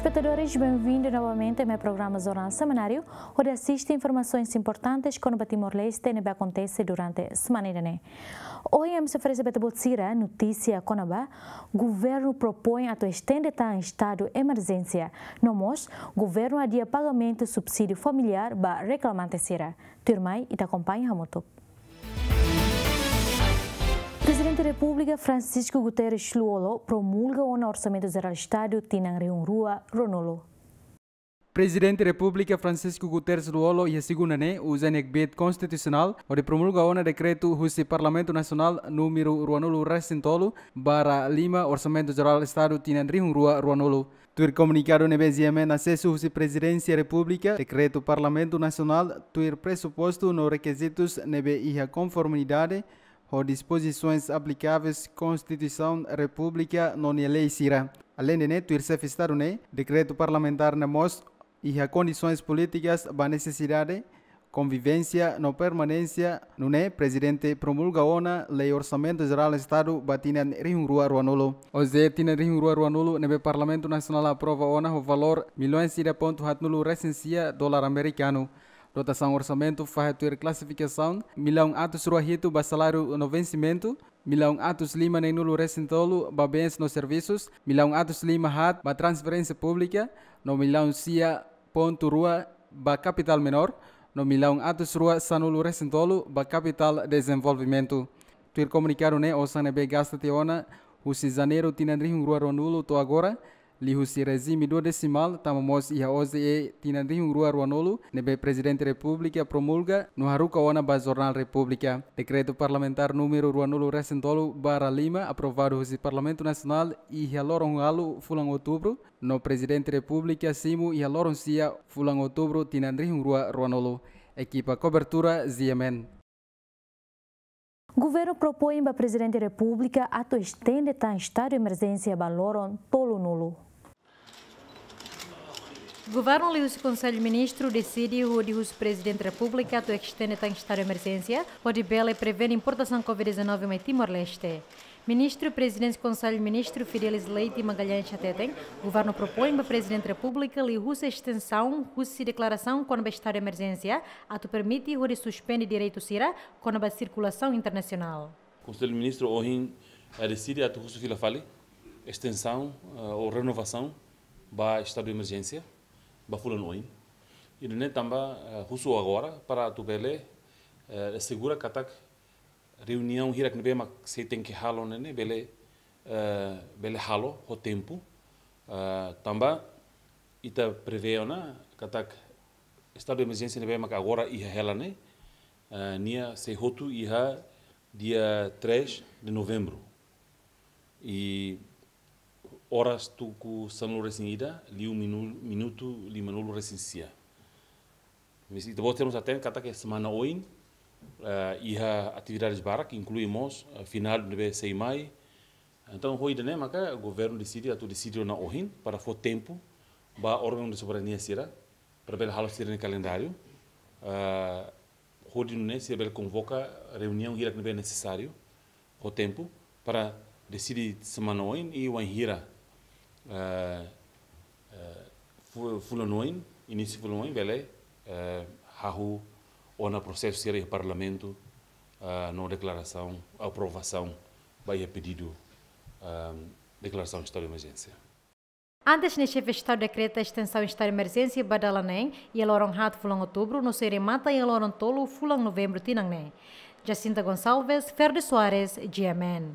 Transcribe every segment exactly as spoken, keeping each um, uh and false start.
Espetadores, benvindu novamente ba programa Jornál Semanáriu, hodi asiste informasoens importantes kona-ba Timor-Leste ne'ebé akontese durante semana ida-ne'e. Ohin ami sei oferese ba ita-boot sira notísia kona-ba governu propoin atu estende tan estadu emerjénsia. No mós, governu adia pagamentu subsídiu familiár ba reklamante sira. Tuirmai, ita akompaña hamutuk. Prezidente Repúblika Francisco Guterres Lú-Olo promulga ona Orsamentu Jerál Estadu tinan rihun rua ruanulu. Prezidente Repúblika Francisco Guterres Lú-Olo iha segunda ne'e uza nia kbiit konstitusionál hodi promulga ona dekretu husi Parlamentu Nasionál númeru ruanulu resin tolu barra lima, Orsamentu Jerál Estadu tinan rihun rua ruanulu. Tuir komunikadu ne'ebé GMN asesu husi Prezidénsia Repúblika, dekretu Parlamentu Nasionál tuir presupostu no rekizitus ne'ebé iha konformidade ho dispozisoens aplikaveis Konstituisaun Repúblika no nia lei sira. Aleinde ne'e, tuir Xefe Estadu ne'e, dekretu parlamentár ne'e mós iha kondisoens polítikas ba nesesidade, konvivénsia no permanénsia, nune'e Prezidente promulga ona Lei Orsamentu Jerál Estadu ba tinan rihun rua ruanulu. Oze tinan rihun rua ruanulu ne'ebé Parlamentu Nasionál aprova ona ho valór millaun ida pontu haatnulu resin sia dolar amerikanu. Dotasaun orsamentu fahe tuir klasifikasaun: millaun atus rua hitu ba saláriu no vensimentu, millaun atus lima neenulu resin tolu ba bens no servisus, millaun atus lima haat ba transferénsia públika, no millaun sia pontu rua ba kapitál menór, no millaun atus rua sanulu resin tolu ba kapitál dezenvolvimentu. Tuir komunikadu ne'e, osan ne'ebé gasta tiha ona husi Janeiru tinan rihun rua ruanulu to'o agora, liuhusi rejime duodesimál, tanba mós iha OJE tinan rihun rua ruanulu, ne'ebé Prezidente Repúblika promulga no haruka ona ba Jornál Repúblika. Dekretu Parlamentár númeru ruanulu resin tolu barra lima, aprovadu husi Parlamentu Nasionál iha loron ualu fulan Outubru, no Prezidente Repúblika simu iha loron sia fulan Outubru tinan rihun rua ruanulu. Ekipa kobertura GMN. Governu propoin ba Prezidente Repúblika atu estende tan estadu emerjénsia ba loron tolunulu. Governu liuhusi Konsellu Ministru deside hodi husu Prezidente Repúblika atu estende tan estadu emerjénsia, hodi bele prevene importasaun covid dezanove mai Timor-Leste. Ministru Prezidente Konsellu Ministru Fidelis Leite Magalhães hateten, governu propoin ba Prezidente Repúblika liuhusi estensaun husi deklarasaun kona-ba estadu emerjénsia, atu permite hodi suspende direitu sira kona-ba sirkulasaun internasionál. Konsellu Ministru ohin, eh, deside atu husu fila fali estensaun, eh, ou renovasaun ba estadu emerjénsia ba fulan oin. Ida-ne'e tanba, eh, husu agora para atu bele, eh, asegura katak reuniaun hirak ne'ebé mak sei tenke halo ne'e, ne'e bele, eh, bele halo ho tempu, eh, tanba ita prevee ona katak estadu emerjénsia ne'ebé mak agora iha hela ne'e, eh, nia sei hotu iha dia três de novembro. I oras tuku sanulu resin ida, liu minu-, minutu limanulu resin sia. Mas ita-boot sira mós hatene katak semana oin, eh, iha atividades barak, inklui mós, eh, feriadu ne'ebé sei mai. Entaun, ho ida-ne'e maka governu deside atu deside ona ohin para fó tempu ba órgaun de soberania sira, para bele halo sira-nia kalendáriu, eh, hodi nune'e sira bele konvoka reuniaun hirak ne'ebé nesesáriu ho tempu para deside semana oin i wainhira, eh, eh, fu-, fulan oin, inísiu fulan oin bele, eh, hahú ona prosesu sira iha Parlamentu, eh, no deklarasaun, aprovasaun ba iha pedidu, eh, deklarasaun estadu de emerjénsia. Antes ne'e, Xefe Estadu dekreta estensaun estadu de emerjénsia ba dala neen, iha loron haat fulan Outubru, no sei remata iha loron tolu fulan Novembru tinan ne'e. Jacinta Gonçalves, Ferdi Soares, GMN.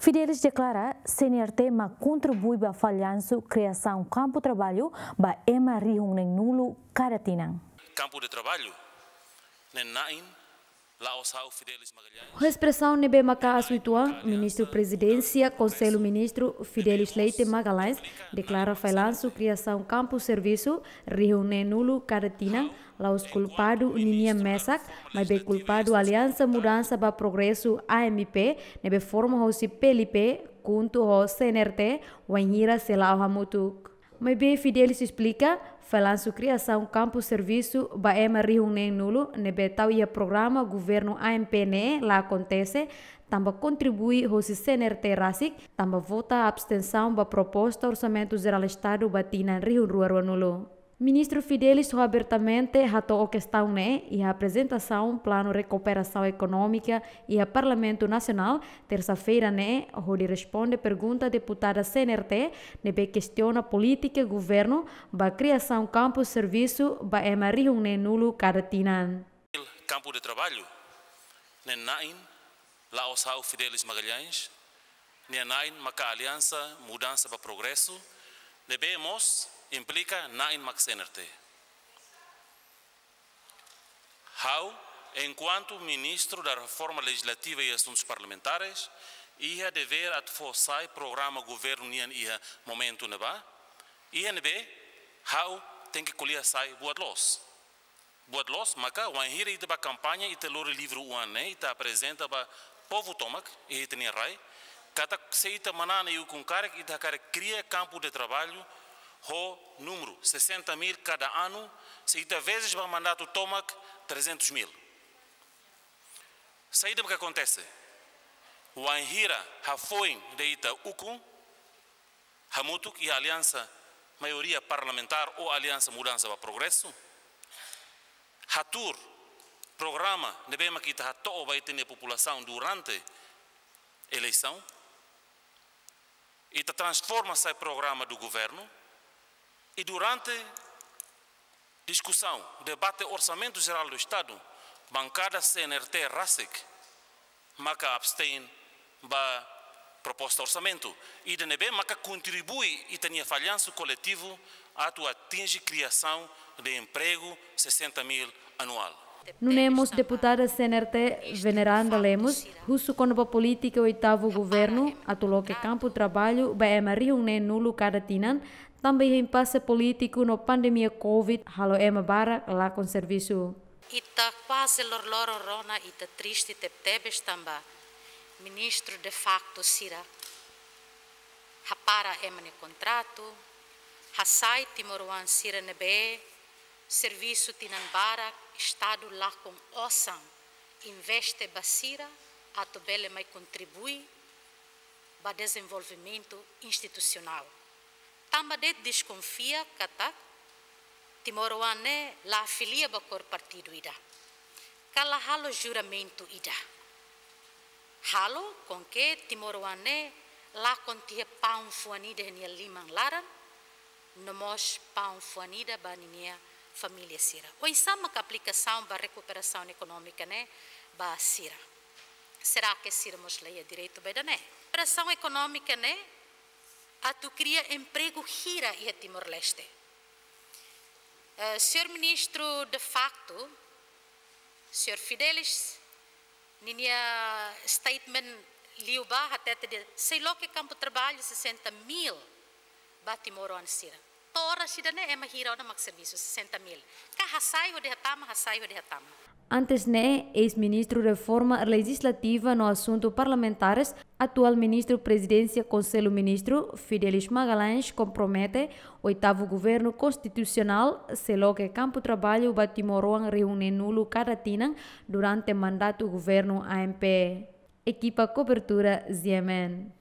Fidelis deklara, CNRT mak kontribui ba fallansu kriasaun kampu traballu ba ema rihun neenulu kada tinan. Kampu de traballu ne'e na'in la'ós ha'u, Fidelis Magalhães. Ho espresaun ne'ebé maka asu uitoan, Ministru Prezidénsia Konsellu Ministru Fidelis Leite Magalhães deklara fallansu kriasaun kampu servisu rihun neenulu kada tinan la'ós kulpadu ninian mesak, maibé kulpadu Aliansa Mudansa ba Progresu, A M P, ne'ebé forma hosi PLP, KHUNTO ho CNRT, wainhira sei la'o hamutuk. Maibé Fidelis esplika, fallansu kriasaun kampu servisu ba ema rihun neen-nulu ne'ebé tau iha programa governu A M P ne'e la akontese, tanba kontribui hosi C N R T rasik, tanba vota abstensaun ba proposta Orsamentu Jerál Estadu ba tinan rihun rua rua-nulu. Ministru Fidelis ho abertamente hato'o kestaun ne'e iha aprezentasaun planu rekuperasaun ekonómika iha Parlamentu Nasionál, tersa-feira ne'e, hodi responde pergunta deputada C N R T ne'ebé kestiona polítika governu ba kriasaun kampu servisu ba ema rihun neen-nulu kada tinan. Kampu de traballu, ne'e na'in la'ós ha'u Fidelis Magalhães, nia na'in maka Aliansa Mudansa ba Progresu, ne'ebé mós implika na'in maka C N R T. Ha'u, enkuantu Ministru da Reforma Legislativa e Assuntos Parlamentares, iha devér atu fó sai programa governu nian iha momentu ne'ebá, iha ne'ebé ha'u tenke ko'alia sai buat loos. Buat loos, maka wainhira ita bá kampaña, ita lori livru oan ne'e, ita aprezenta ba povu tomak, iha ita-nia rai, katak se ita manán iha ukun karik, ita hakarak kria kampu de traballu ho númeru sessenta mil kada anu, se ita vezes ba mandatu tomak trezentos mil. Saida mak akontese? Wainhira hafoin de'it ita ukun, hamutuk iha aliansa maioria parlamentár ou Aliansa Mudansa ba Progresu, hatuur programa ne'ebé mak ita hato'o ba ita-nia populasaun durante eleisaun, ita transforma sai programa do governo, i durante diskusaun, debate Orsamentu Jerál do Estadu, bankada C N R T rasik maka abstein ba proposta orsamentu, ida ne'ebé maka kontribui ita-nia fallansu koletivu atu atinje kriasaun de empregu sessenta mil anuál. Nune'e mós deputada C N R T Veneranda Lemos husu kona-ba polítika oitavu governu atu loke kampu traballu ba ema rihun neen-nulu kada tinan, tanba iha impase polítiku no pandemia covid halo ema barak lakon servisu. Ita kuaze loroloron rona, ita triste tebetebes tanba ministru de facto sira hapara ema nia kontratu, hasai timoroan sira ne'ebé servisu tinan barak, Estadu lakon osan investe ba sira atu bele mai kontribui ba dezenvolvimentu institusionál. Tanba de'it deskonfia katak timoroan ne'e la afilia ba kór partidu ida, ka la halo juramentu ida. Halo com que timoroan ne'e lakon tiha paun fuan ida iha nia liman laran, no mós paun fuan ida ba ninia família sira. Oinsá maka aplikasaun ba rekuperasaun ekonómika ne'e ba sira? Será que sira mós la iha direitu ba ida-ne'e? Rekuperasaun ekonómika ne'e atu kria empregu hira iha Timor-Leste? Eh, señór ministru de facto, señór Fidelis, ninia statement liubá hatete dehan sei loke kampu traballu sessenta mil ba timoroan sira. To'o oras ida-ne'e ema hira ona mak servisu, sessenta mil. Ka hasai hodi hatama, hasai hodi hatama. Antes ne'e, eis-ministru Reforma Legislativa no Asuntu Parlamentares, atuál ministru Prezidénsia Konsellu Ministru, Fidelis Magalhães, kompromete oitavu governu konstitusionál sei loke kampu traballu ba timoroan rihun neen-nulu kada tinan durante mandatu governu A M P. Ekipa kobertura Z M N.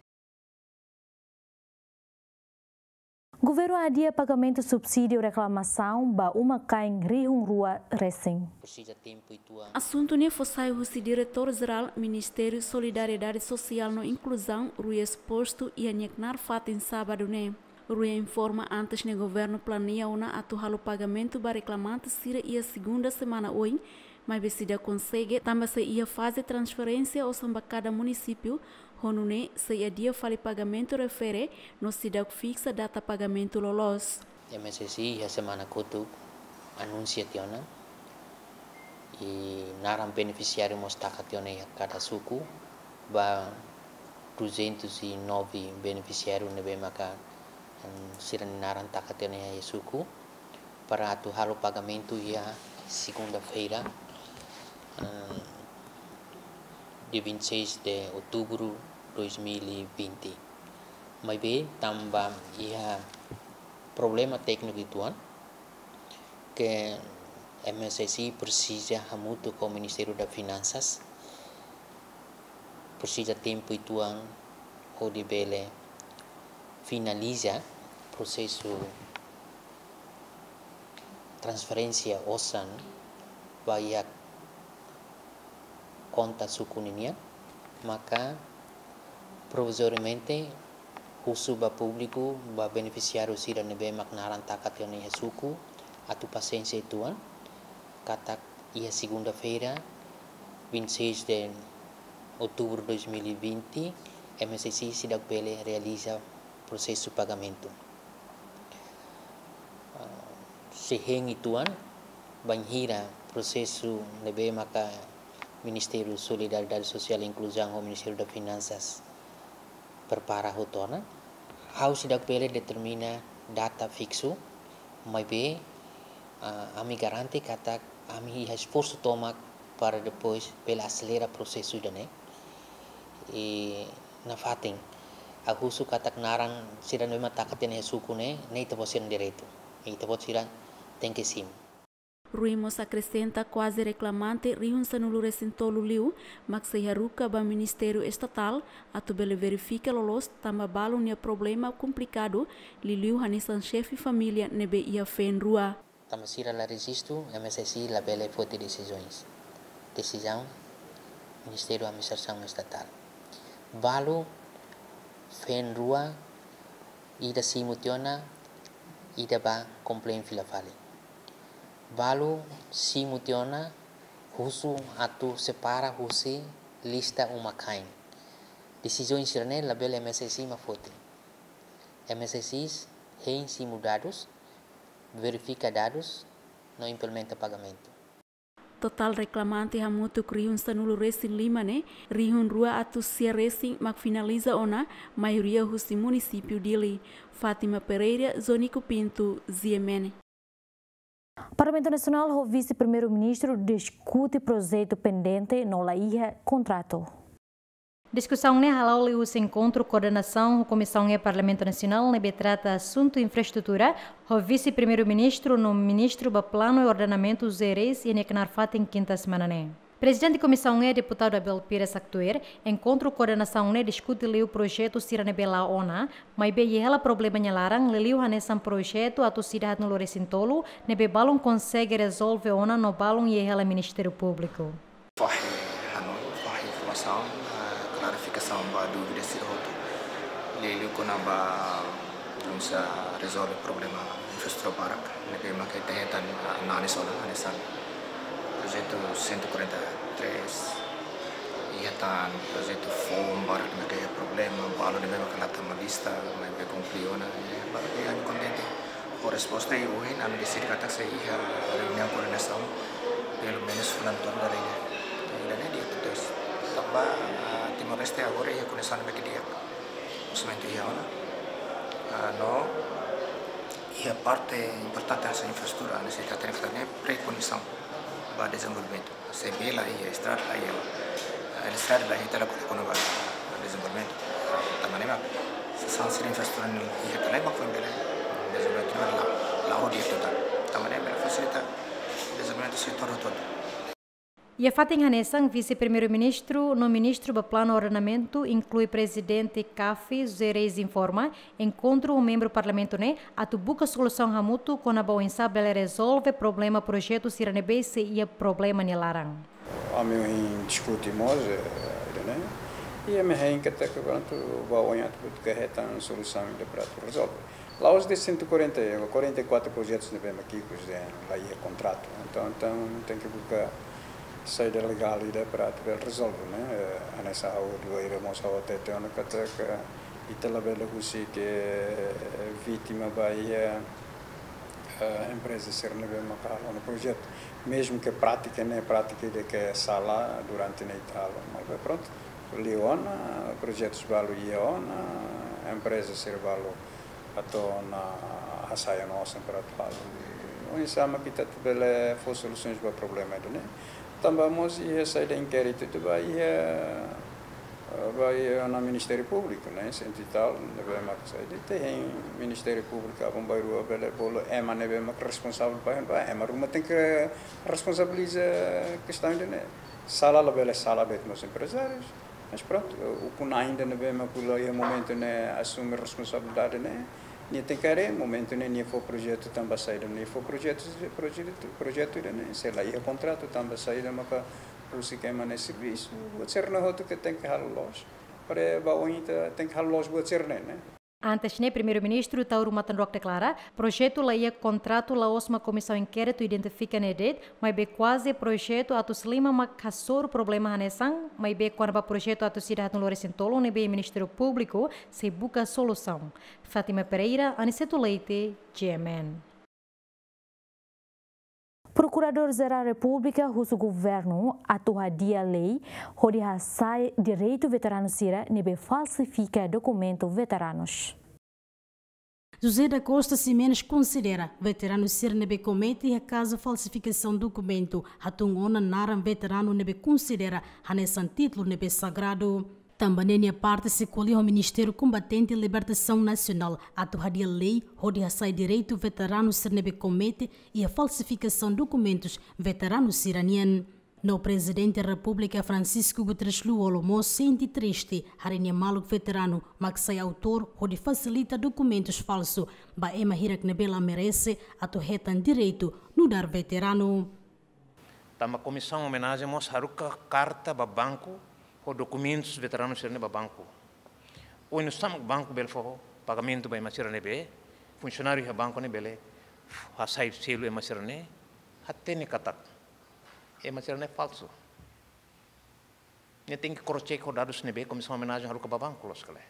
Governu adia pagamentu subsídiu reklamasaun ba uma-kain rihun rua resin. Asuntu ne'e fó sai husi Diretór Jerál Ministériu Solidariedade Sosiál no Inkluzaun, RUI, espostu iha nia knaar fatin sábadu ne'e. RUI informa antes ne'e governu planeia ona atu halo pagamentu ba reklamante sira iha segunda semana oin, maibé seidauk konsege, tanba sei iha faze transferénsia osan ba kada munisípiu, ho nune'e sei adia fali pagamentu refere no seidauk fiksa data pagamentu loloos. M S S I iha semana kotuk anunsia tiha ona, i naran benefisiáriu mós taka tiha ona iha kada suku, ba duzentos e nove benefisiáriu ne'ebé maka, em, sira-nia naran taka tiha ona iha suku, para atu halo pagamentu iha segunda-feira, em, dia vinte e seis de outubro dois mil e vinte. Maibé tanba iha problema tékniku uitoan, ke M S S I presiza hamutuk ho Ministériu das Finansas, presiza tempu uitoan hodi bele finaliza prosesu transferénsia osan ba iha konta suku ninian, maka provizoriamente husu ba públiku, ba benefisiáriu sira ne'ebé mak naran taka tiha ona iha suku, atu pasiénsia uitoan, katak iha segunda-feira, vinte e seis de outubro de dois mil e vinte, M S S I seidauk bele realiza prosesu pagamentu. Ah, sei hein uitoan, bainhira prosesu ne'ebé maka Ministériu Solidariedade Sosiál e Inkluzaun ho Ministériu das Finansas prepara hotu ona. Ha'u seidauk bele determina data fiksu, maibé, ah, ami garante katak ami iha esforsu tomak para depois bele aselera prosesu ida-ne'e. I nafatin, ha'u husu katak naran sira ne'ebé mak taka tiha ona iha suku ne'e, ne'e ita-boot sira-nia direitu. Ita-boot sira tenke simu. Rui mós akresenta kuaze reklamante rihun sanulu-resin-tolu liu, mak sei haruka ba Ministériu Estatál, atu bele verifika loloos tanba balu nia problema komplikadu, liuliu hanesan xefe família ne'ebé iha feen rua. Tanba sira la rejistu, M S S I labele foti desizaun. Desizaun Ministériu Administrasaun Estatál. Balu feen rua, ida simu tiha ona, ida bá komplain fila fali. Balu simu tiha ona, husu atu separa husi lista uma-kain. Desizaun sira-ne'e labele M S S I mak foti. M S S I hein simu dadus, verifika dadus, no implementa pagamentu. Totál reklamante hamutuk rihun sanulu-resin-lima ne'e, rihun rua atus sia-resin mak finaliza ona, maioria husi munisípiu Dili. Fátima Pereira, Zonico Pinto, G M N. Parlamentu Nasionál ho Vise-Primeiru-Ministru diskute projetu pendente no la iha kontratu. Diskusaun ne'e hala'o liuhusi enkontru koordenasaun ho Komisaun E Parlamentu Nasionál ne'ebé trata asuntu infraestrutura, ho Vise-Primeiru-Ministru no Ministru ba Planu i Ordenamentu José Reis iha nia knaar fatin kinta semana ne'e. Prezidente Komisaun E, Deputadu Abel Pires haktuir, enkontru koordenasaun ne'e diskute liu projetu sira ne'ebé la'o ona, maibé iha hela problema nia laran, liuliu hanesan projetu atus ida haatnulu-resin-tolu, ne'ebé balun konsege rezolve ona no balun iha hela Ministériu Públiku. Fahe hanoin, fahe informasaun, eh, klarifikasaun ba dúvida sira hotu. Liuliu kona-ba oinsá rezolve problema infraestrutura barak, ne'ebé mak ita hetan, eh, análize ona, hanesan projetu cento e quarenta e três, iha tan projetu foun barak ne'ebé iha problema, balu ne'ebé mak la tama lista, maibé konkluziona, eh, barak ne'e ami kontente ho resposta i ohin ami deside katak sei iha reuniaun koordenasaun, pelumenus fulan outubru dala ida. Ida-ne'e di'ak tebes. Tanba, ah, Timor-Leste agora iha kondisaun ne'ebé ke di'ak. Orsamentu iha ona. Ah, no iha parte importante hanesan infraestrutura, ne'e sei hatene katak ne'e prekondisaun ba dezenvolvimentu. Se bee la iha, estrada la iha, eh, eletrisidade la iha, ita la kole kona-ba dezenvolvimentu. Tanba ne'e mak, se sasán sira infraestrutura ne'e iha ka lae mak foin bele dezenvolvimentu ne'e la, la hodi total. Tanba ne'e bele fasilita dezenvolvimentu setór hotu-hotu. Iha fatin hanesan, Vise-Primeiru-Ministru no Ministru ba Planu Ordenamentu, inklui Prezidente CAF, José Reis informa, enkontru ho membru Parlamentu ne'e atu buka solusaun hamutuk kona-ba oinsá bele rezolve problema projetu sira ne'ebé sei iha problema nia laran. Ami ohin diskute mós, eh, ida-ne'e. I ami hein katak, prontu, ba oin atu buka hetan solusaun ida para atu rezolve. La'ós de'it cento e quarenta, quarenta e quatro projetus ne'ebé mak ikus de'it la iha kontratu. Entaun, entaun tenke buka saida legál ida para atu bele rezolve, ne'e? Eh, hanesan ha'u dua ira mós ha'u hatete ona katak ita labele husik, eh, vítima ba iha, eh, empreza sira ne'ebé maka halo ona projetu. Mezmu ke prátika ne'e, prátika ida ke sala durante ne'e ita halo. Maibé prontu, liu ona, projetus balu iha ona, empreza sira balu atu ona hasai ona osan para atu halo. Oinsá mak ita atu bele fó solusaun ba problema ida-ne'e. Tanba mós iha saida, inkéritu ida ba iha Ba iha ona Ministériu Públiku, ne'e, cento e tal, ne'ebé mak sai de'it iha Ministériu Públiku, aban-bainrua bele bolu ema ne'ebé mak responsavel ba, ba ema ruma tenke responsabiliza kestaun ida-ne'e. Sala labele sala de'it mós emprezárius, mas prontu, ukun-an ida ne'ebé mak la'ós iha momentu ne'e asume responsabilidade ne'e, nia tenke haree momentu ne'e nia fó projetu tanba saida, nia fó projetu, projetu, projetu ida-ne'e, se la iha kontratu tanba saida maka husik ema ne'e servisu, buat sira-ne'e hotu ke tenke halo loos. Para ba oin ita tenke halo loos buat sira-ne'e, ne'e. Antes ne'e, Primeiru-Ministru Taur Matan Ruak deklara, projetu la iha kontratu la'ós mak Komisaun Inkéritu identifika ne'e de'it, maibé kuaze projetu atus lima mak hasoru problema hanesan, maibé kona-ba projetu atus ida haatnulu resin tolu ne'ebé Ministériu Públiku sei buka solusaun. Fátima Pereira, Aniceto Leite, G M N. Prokuradór-Jerál Repúblika husu governu atu hadi'a lei hodi hasa'e direitu veteranu sira ne'ebé falsifika dokumentu veteranus. José da Costa Ximenes konsidera veteranu sira ne'ebé komete iha kazu falsifikasaun dokumentu hatún ona naran veteranu ne'ebé konsidera hanesan títulu ne'ebé sagradu. Tanba ne'e nia parte sei ko'alia ho Ministériu Kombatente Libertasaun Nasionál atu hadi'a lei hodi hasa'e direitu veteranu sira ne'ebé komete iha falsifikasaun dokumentus veteranu sira-nian. No Prezidente Repúblika Francisco Guterres Lú-Olo mós sente triste haree nia maluk veteranu mak sai autór hodi fasilita dokumentus falsu ba ema hirak ne'ebé la merese atu hetan direitu nu'udar veteranu. Tanba Komisaun Omenajen mós haruka karta ba banku ho dokumentus veteranu sira-ne'e ba banku. Oinsá mak banku bele fó pagamentu ba ema sira ne'ebé, funsionáriu iha banku ne'e bele hasai selu ema sira-ne'e, hatene katak ema sira-ne'e falsu. Ne'e tenke cross-check ho dadus ne'ebé Komisaun Omenajen haruka ba banku, loos ka lae.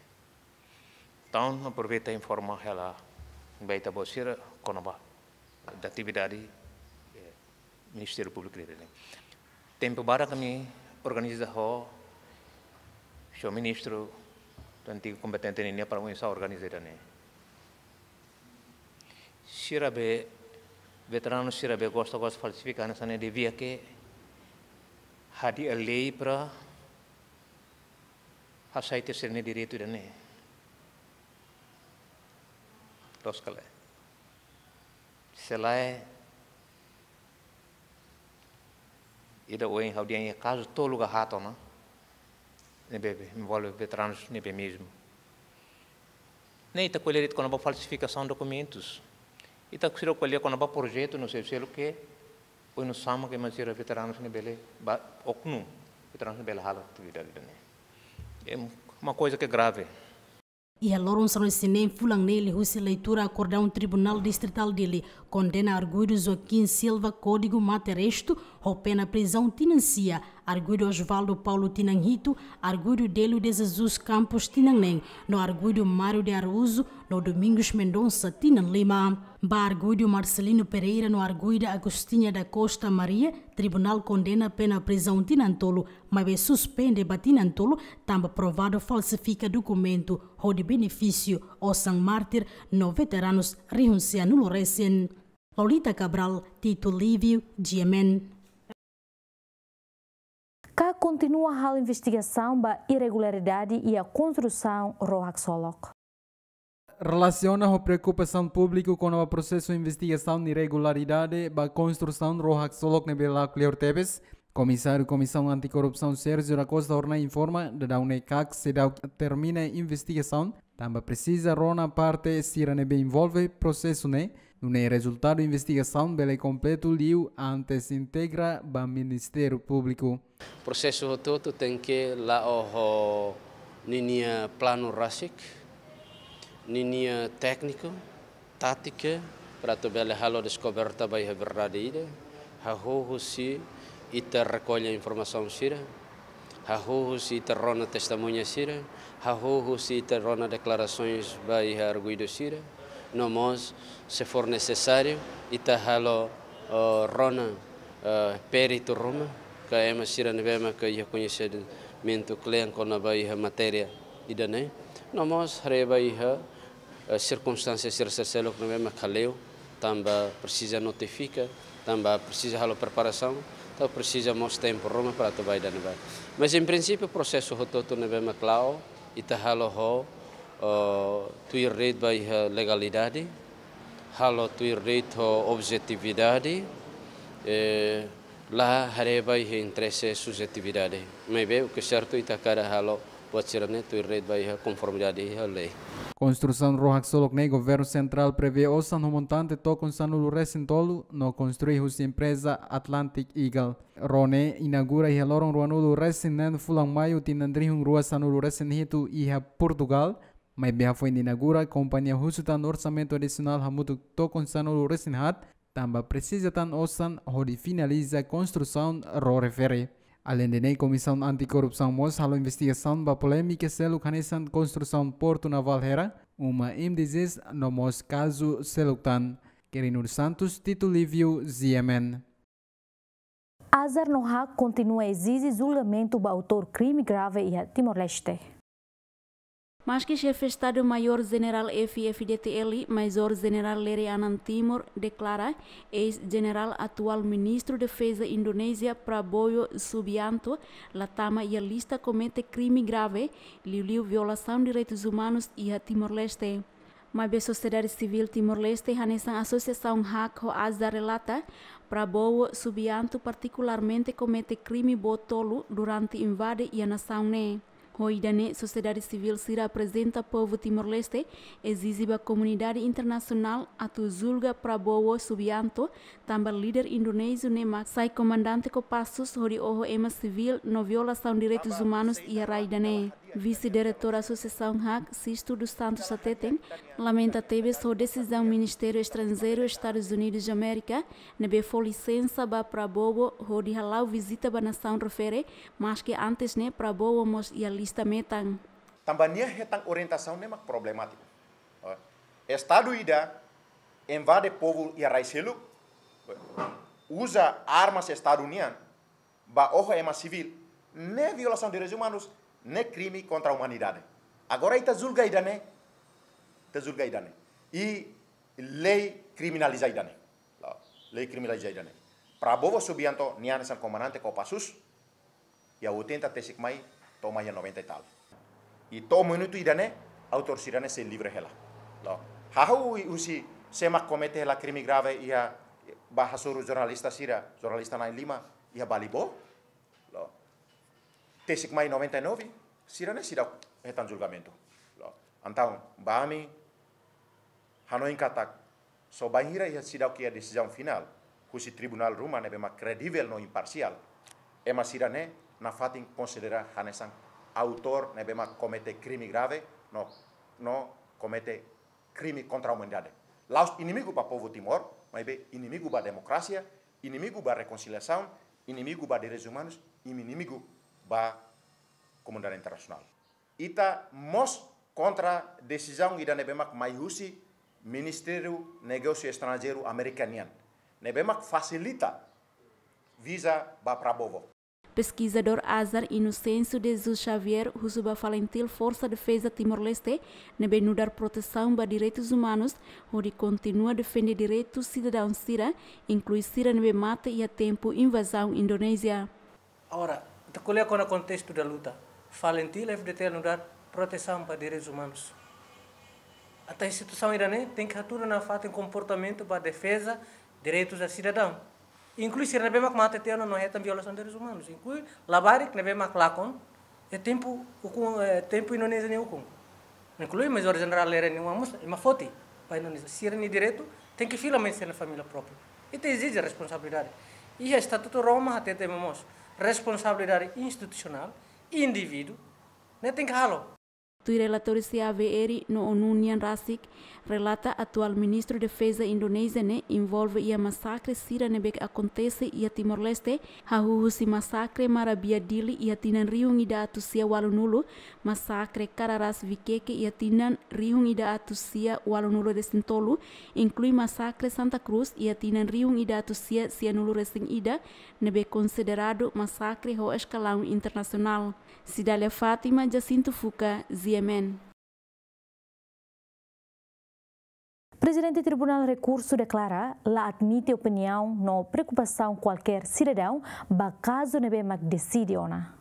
Entaun, aproveita informa hela ba ita-boot sira kona-ba atividade, eh, Ministériu Públiku ne'e. Tempu badak ami organiza ho señór ministru, antigu kombatente nian, para oinsá organiza ida-ne'e. Sira be, veteranu sira be gosta, gosta falsifika hanesan ne'e, devia ke hadi'a lei para hasai sira-nia direitu ida-ne'e. Loos ka lae. Se lae, ida ohin ha'u dehan iha kazu tolu ka haat ona, ne'ebé envolve veteranus ne'ebé mezmu. Ne'e ita ko'alia de'it kona-ba falsifikasaun dokumentus. Ita seidauk ko'alia kona-ba projetu no selu-seluk ke oinsá mak ema sira veteranus ne'e bele ba oknum, veteranus ne'e bele halo atividade ida-ne'e. É uma coisa que é grave. Iha loron sanulu-resin-neen fulan ne'e liuhusi leitura akordaun Tribunál Distritál Dili kondena arguidu Joaquim Silva Código Mate Restu ho pena prizaun tinan sia, arguidu Osvaldo Paulo tinan hitu, arguidu Delio de Jesus Campos tinan neen, no arguidu Mário de Araújo no Domingos Mendonça tinan lima. Ba arguidu Marcelino Pereira no arguida Agostinha da Costa Maria, tribunál kondena pena prizaun tinan tolu, maibé suspende ba tinan tolu, tanba provadu falsifika dokumentu hodi benefísiu osan mártir no veteranus rihun sia-nulu resin. Lolita Cabral, Tito Lívio, G M N. KAK kontinua halo investigasaun ba irregularidade iha konstrusaun ró haksolok. Relasiona ho preokupasaun públiku kona-ba prosesu investigasaun irregularidade ba konstrusaun ró haksolok ne'ebé la kleur tebes, Komisáriu Komisaun Antikorrupsaun Sérgio da Costa Hornai informa, daudaun ne'e KAK seidauk termina investigasaun, tanba presiza rona parte sira ne'ebé envolve prosesu ne'e, nune'e rezultadu investigasaun bele kompletu liu antes integra ba Ministériu Públiku. Prosesu hotu-hotu tenke la'o ho ninia planu rasik, ninia tékniku, tátika, para atu bele halo deskoberta ba iha verdade ida, hahú husi ita rekolla informasaun sira, hahú husi ita rona testemuña sira, hahú husi ita rona deklarasoens ba iha arguidu sira, no mós, se for nesesáriu, ita halo, eh, rona, eh, peritu ruma, ka ema sira ne'ebé maka iha koñesimentu kle'an kona-ba iha matéria ida-ne'e, no mós haree ba iha, eh, sirkunstánsia sira selu-seluk ne'ebé maka leu, Tanba presiza notifika, tanba presiza halo preparasaun, entaun presiza mós tempu ruma para atu ba ida-ne'ebá. Mas em princípio prosesu hotu-hotu ne'ebé mak la'o, ita halo ho, eh, tuir de'it ba iha legalidade, halo tuir de'it ho objetividade, eh, la haree ba iha interese subjetividade. Maibé o que sertu ita hakarak halo buat sira-ne'e tuir de'it ba iha konformidade iha lei. Konstrusaun ró haksolok ne'e governu sentrál prevee osan ho montante tokon sanulu-resin-tolu no konstrui husi empreza Atlantic Eagle. Ró ne'e inaugura iha loron ruanulu-resin-neen fulan Maiu tinan rihun rua sanulu-resin-hitu iha Portugál, maibé hafoin inaugura, kompañia husu tan orsamentu adisionál hamutuk tokon sanulu-resin-haat, tanba presiza tan osan hodi finaliza konstrusaun ró refere. Aleinde ne'e, Komisaun Antikorrupsaun mós halo investigasaun ba polémika seluk hanesan konstrusaun Portu Navál Hera, uma M D Zs no mós kazu seluk tan. Quirino dos Santos, Tito Lívio, Z M N. Azar no haat kontinua ezije julgamentu ba autór krime grave iha Timor-Leste. Maski Xefe Estadu Maiór Jenerál F-FDTL, Maizór Jenerál Lere Anan Timor, deklara eis-jenerál atuál Ministru Defeza Indonézia Prabowo Subianto la tama iha lista komete krime grave, liuliu violasaun direitus umanus iha Timor-Leste. Maibé sosiedade sivíl Timor-Leste hanesan asosiasaun haat ho Azar relata, Prabowo Subianto partikularmente komete krime boot tolu durante invade iha nasaun ne'e. Ho ida-ne'e, sosiedade sivíl sira aprezenta povu Timor-Leste ezije ba komunidade internasionál atu julga Prabowo Subianto, tanba líder indonéziu ne'e mak sai komandante Kopassus hodi oho ema sivíl no violasaun direitus umanus iha rai ida-ne'e. Vise-diretór Asosiasaun haat, Sisto dos Santos hateten, lamenta tebes ho desizaun Ministériu Estranjeiru Estadus Unidus Amérika ne'ebé fó lisensa ba Prabowo hodi hala'o vizita ba nasaun refere, maski antes ne'e Prabowo mós iha lista metan. Tanba nia hetan orientasaun ne'e mak problemátiku. Estadu ida invade povu iha rai seluk, uza armas Estadu nian, ba oho ema sivíl, ne'e violasaun direitus umanus, ne'e krime kontra umanidade. Agora ita julga ida-ne'e, ita julga ida-ne'e. I lei kriminaliza ida-ne'e. Lei kriminaliza ida-ne'e. Prabowo Subianto nia hanesan komandante Kopassus, iha oitenta tesik mai, to'o mai iha noventa e tal. I to'o minutu ida-ne'e, autór sira-ne'e sei livre hela. La'o. Hahú husi sé mak komete hela krime grave iha ba hasoru jornalista sira, jornalista na'in-lima, iha Balibo. La'o. Tesik mai noventa e nove, sira-ne'e seidauk hetan julgamentu. La'o. Entaun, ba ami, hanoin katak, só bainhira iha seidauk iha desizaun finál husi tribunál ruma ne'ebé mak kredivel no imparsiál, ema sira-ne'e nafatin konsidera hanesan autór ne'ebé mak komete krime grave no, no komete krime kontra umanidade. La'ós inimigu ba povu Timor, maibé inimigu ba demokrasia, inimigu ba rekonsiliasaun, inimigu ba direitus umanus, inimigu ba komunidade internasionál. Ita mós kontra desizaun ida ne'ebé mak mai husi Ministériu Negósiu Estranjeiru Amérika nian, ne'ebé mak fasilita viza ba Prabowo. Peskizadór Azar, Inocêncio de Jesus Xavier, husu ba FALINTIL, Forsa Defeza Timor-Leste, ne'ebé nu'udar protesaun ba direitus umanus, hodi kontinua defende direitu sidadaun sira, inklui sira ne'ebé mate iha tempu invazaun Indonézia. Agora, ita ko'alia kona-ba kontestu da luta. FALINTIL, F-FDTL nu'udar protesaun ba direitus umanus. Atu iha situasaun ida-ne'e, tenke hatudu nafatin komportamentu ba defeza direitus sidadaun. Inklui sira ne'ebé mak mate tiha ona no hetan violasaun direitus umanus. Inklui labarik ne'ebé mak lakon, iha tempu ukun, iha tempu Indonézia nia ukun. Inklui Maizór Jenerál Lere nia oan mós, ema foti ba Indonézia. Sira-nia direitu tenke fila mai sira-nia família própriu. Ita ezije responsabilidade. Iha Estatutu Roma hatete mós, responsabilidade institusionál, indivíduu, ne'e tenke halo. Tuir relatóriu C A V R no ONU nian rasik, relata atuál Ministru Defeza Indonézia ne'e envolve iha masakre sira ne'ebé akontese iha Timor-Leste, hahú husi masakre Marabia Dili iha tinan rihun ida atus sia ualunulu, masakre Cararás Viqueque iha tinan rihun ida atus sia ualunulu-resin-tolu, inklui masakre Santa Cruz iha tinan rihun ida atus sia sianulu-resin-ida, ne'ebé konsideradu masakre ho eskalaun internasionál. Cidália Fátima, Jacinto Fuca, Z M N. Prezidente Tribunál Rekursu deklara la admite opiniaun no preokupasaun kualkér sidadaun ba kazu ne'ebé mak deside ona.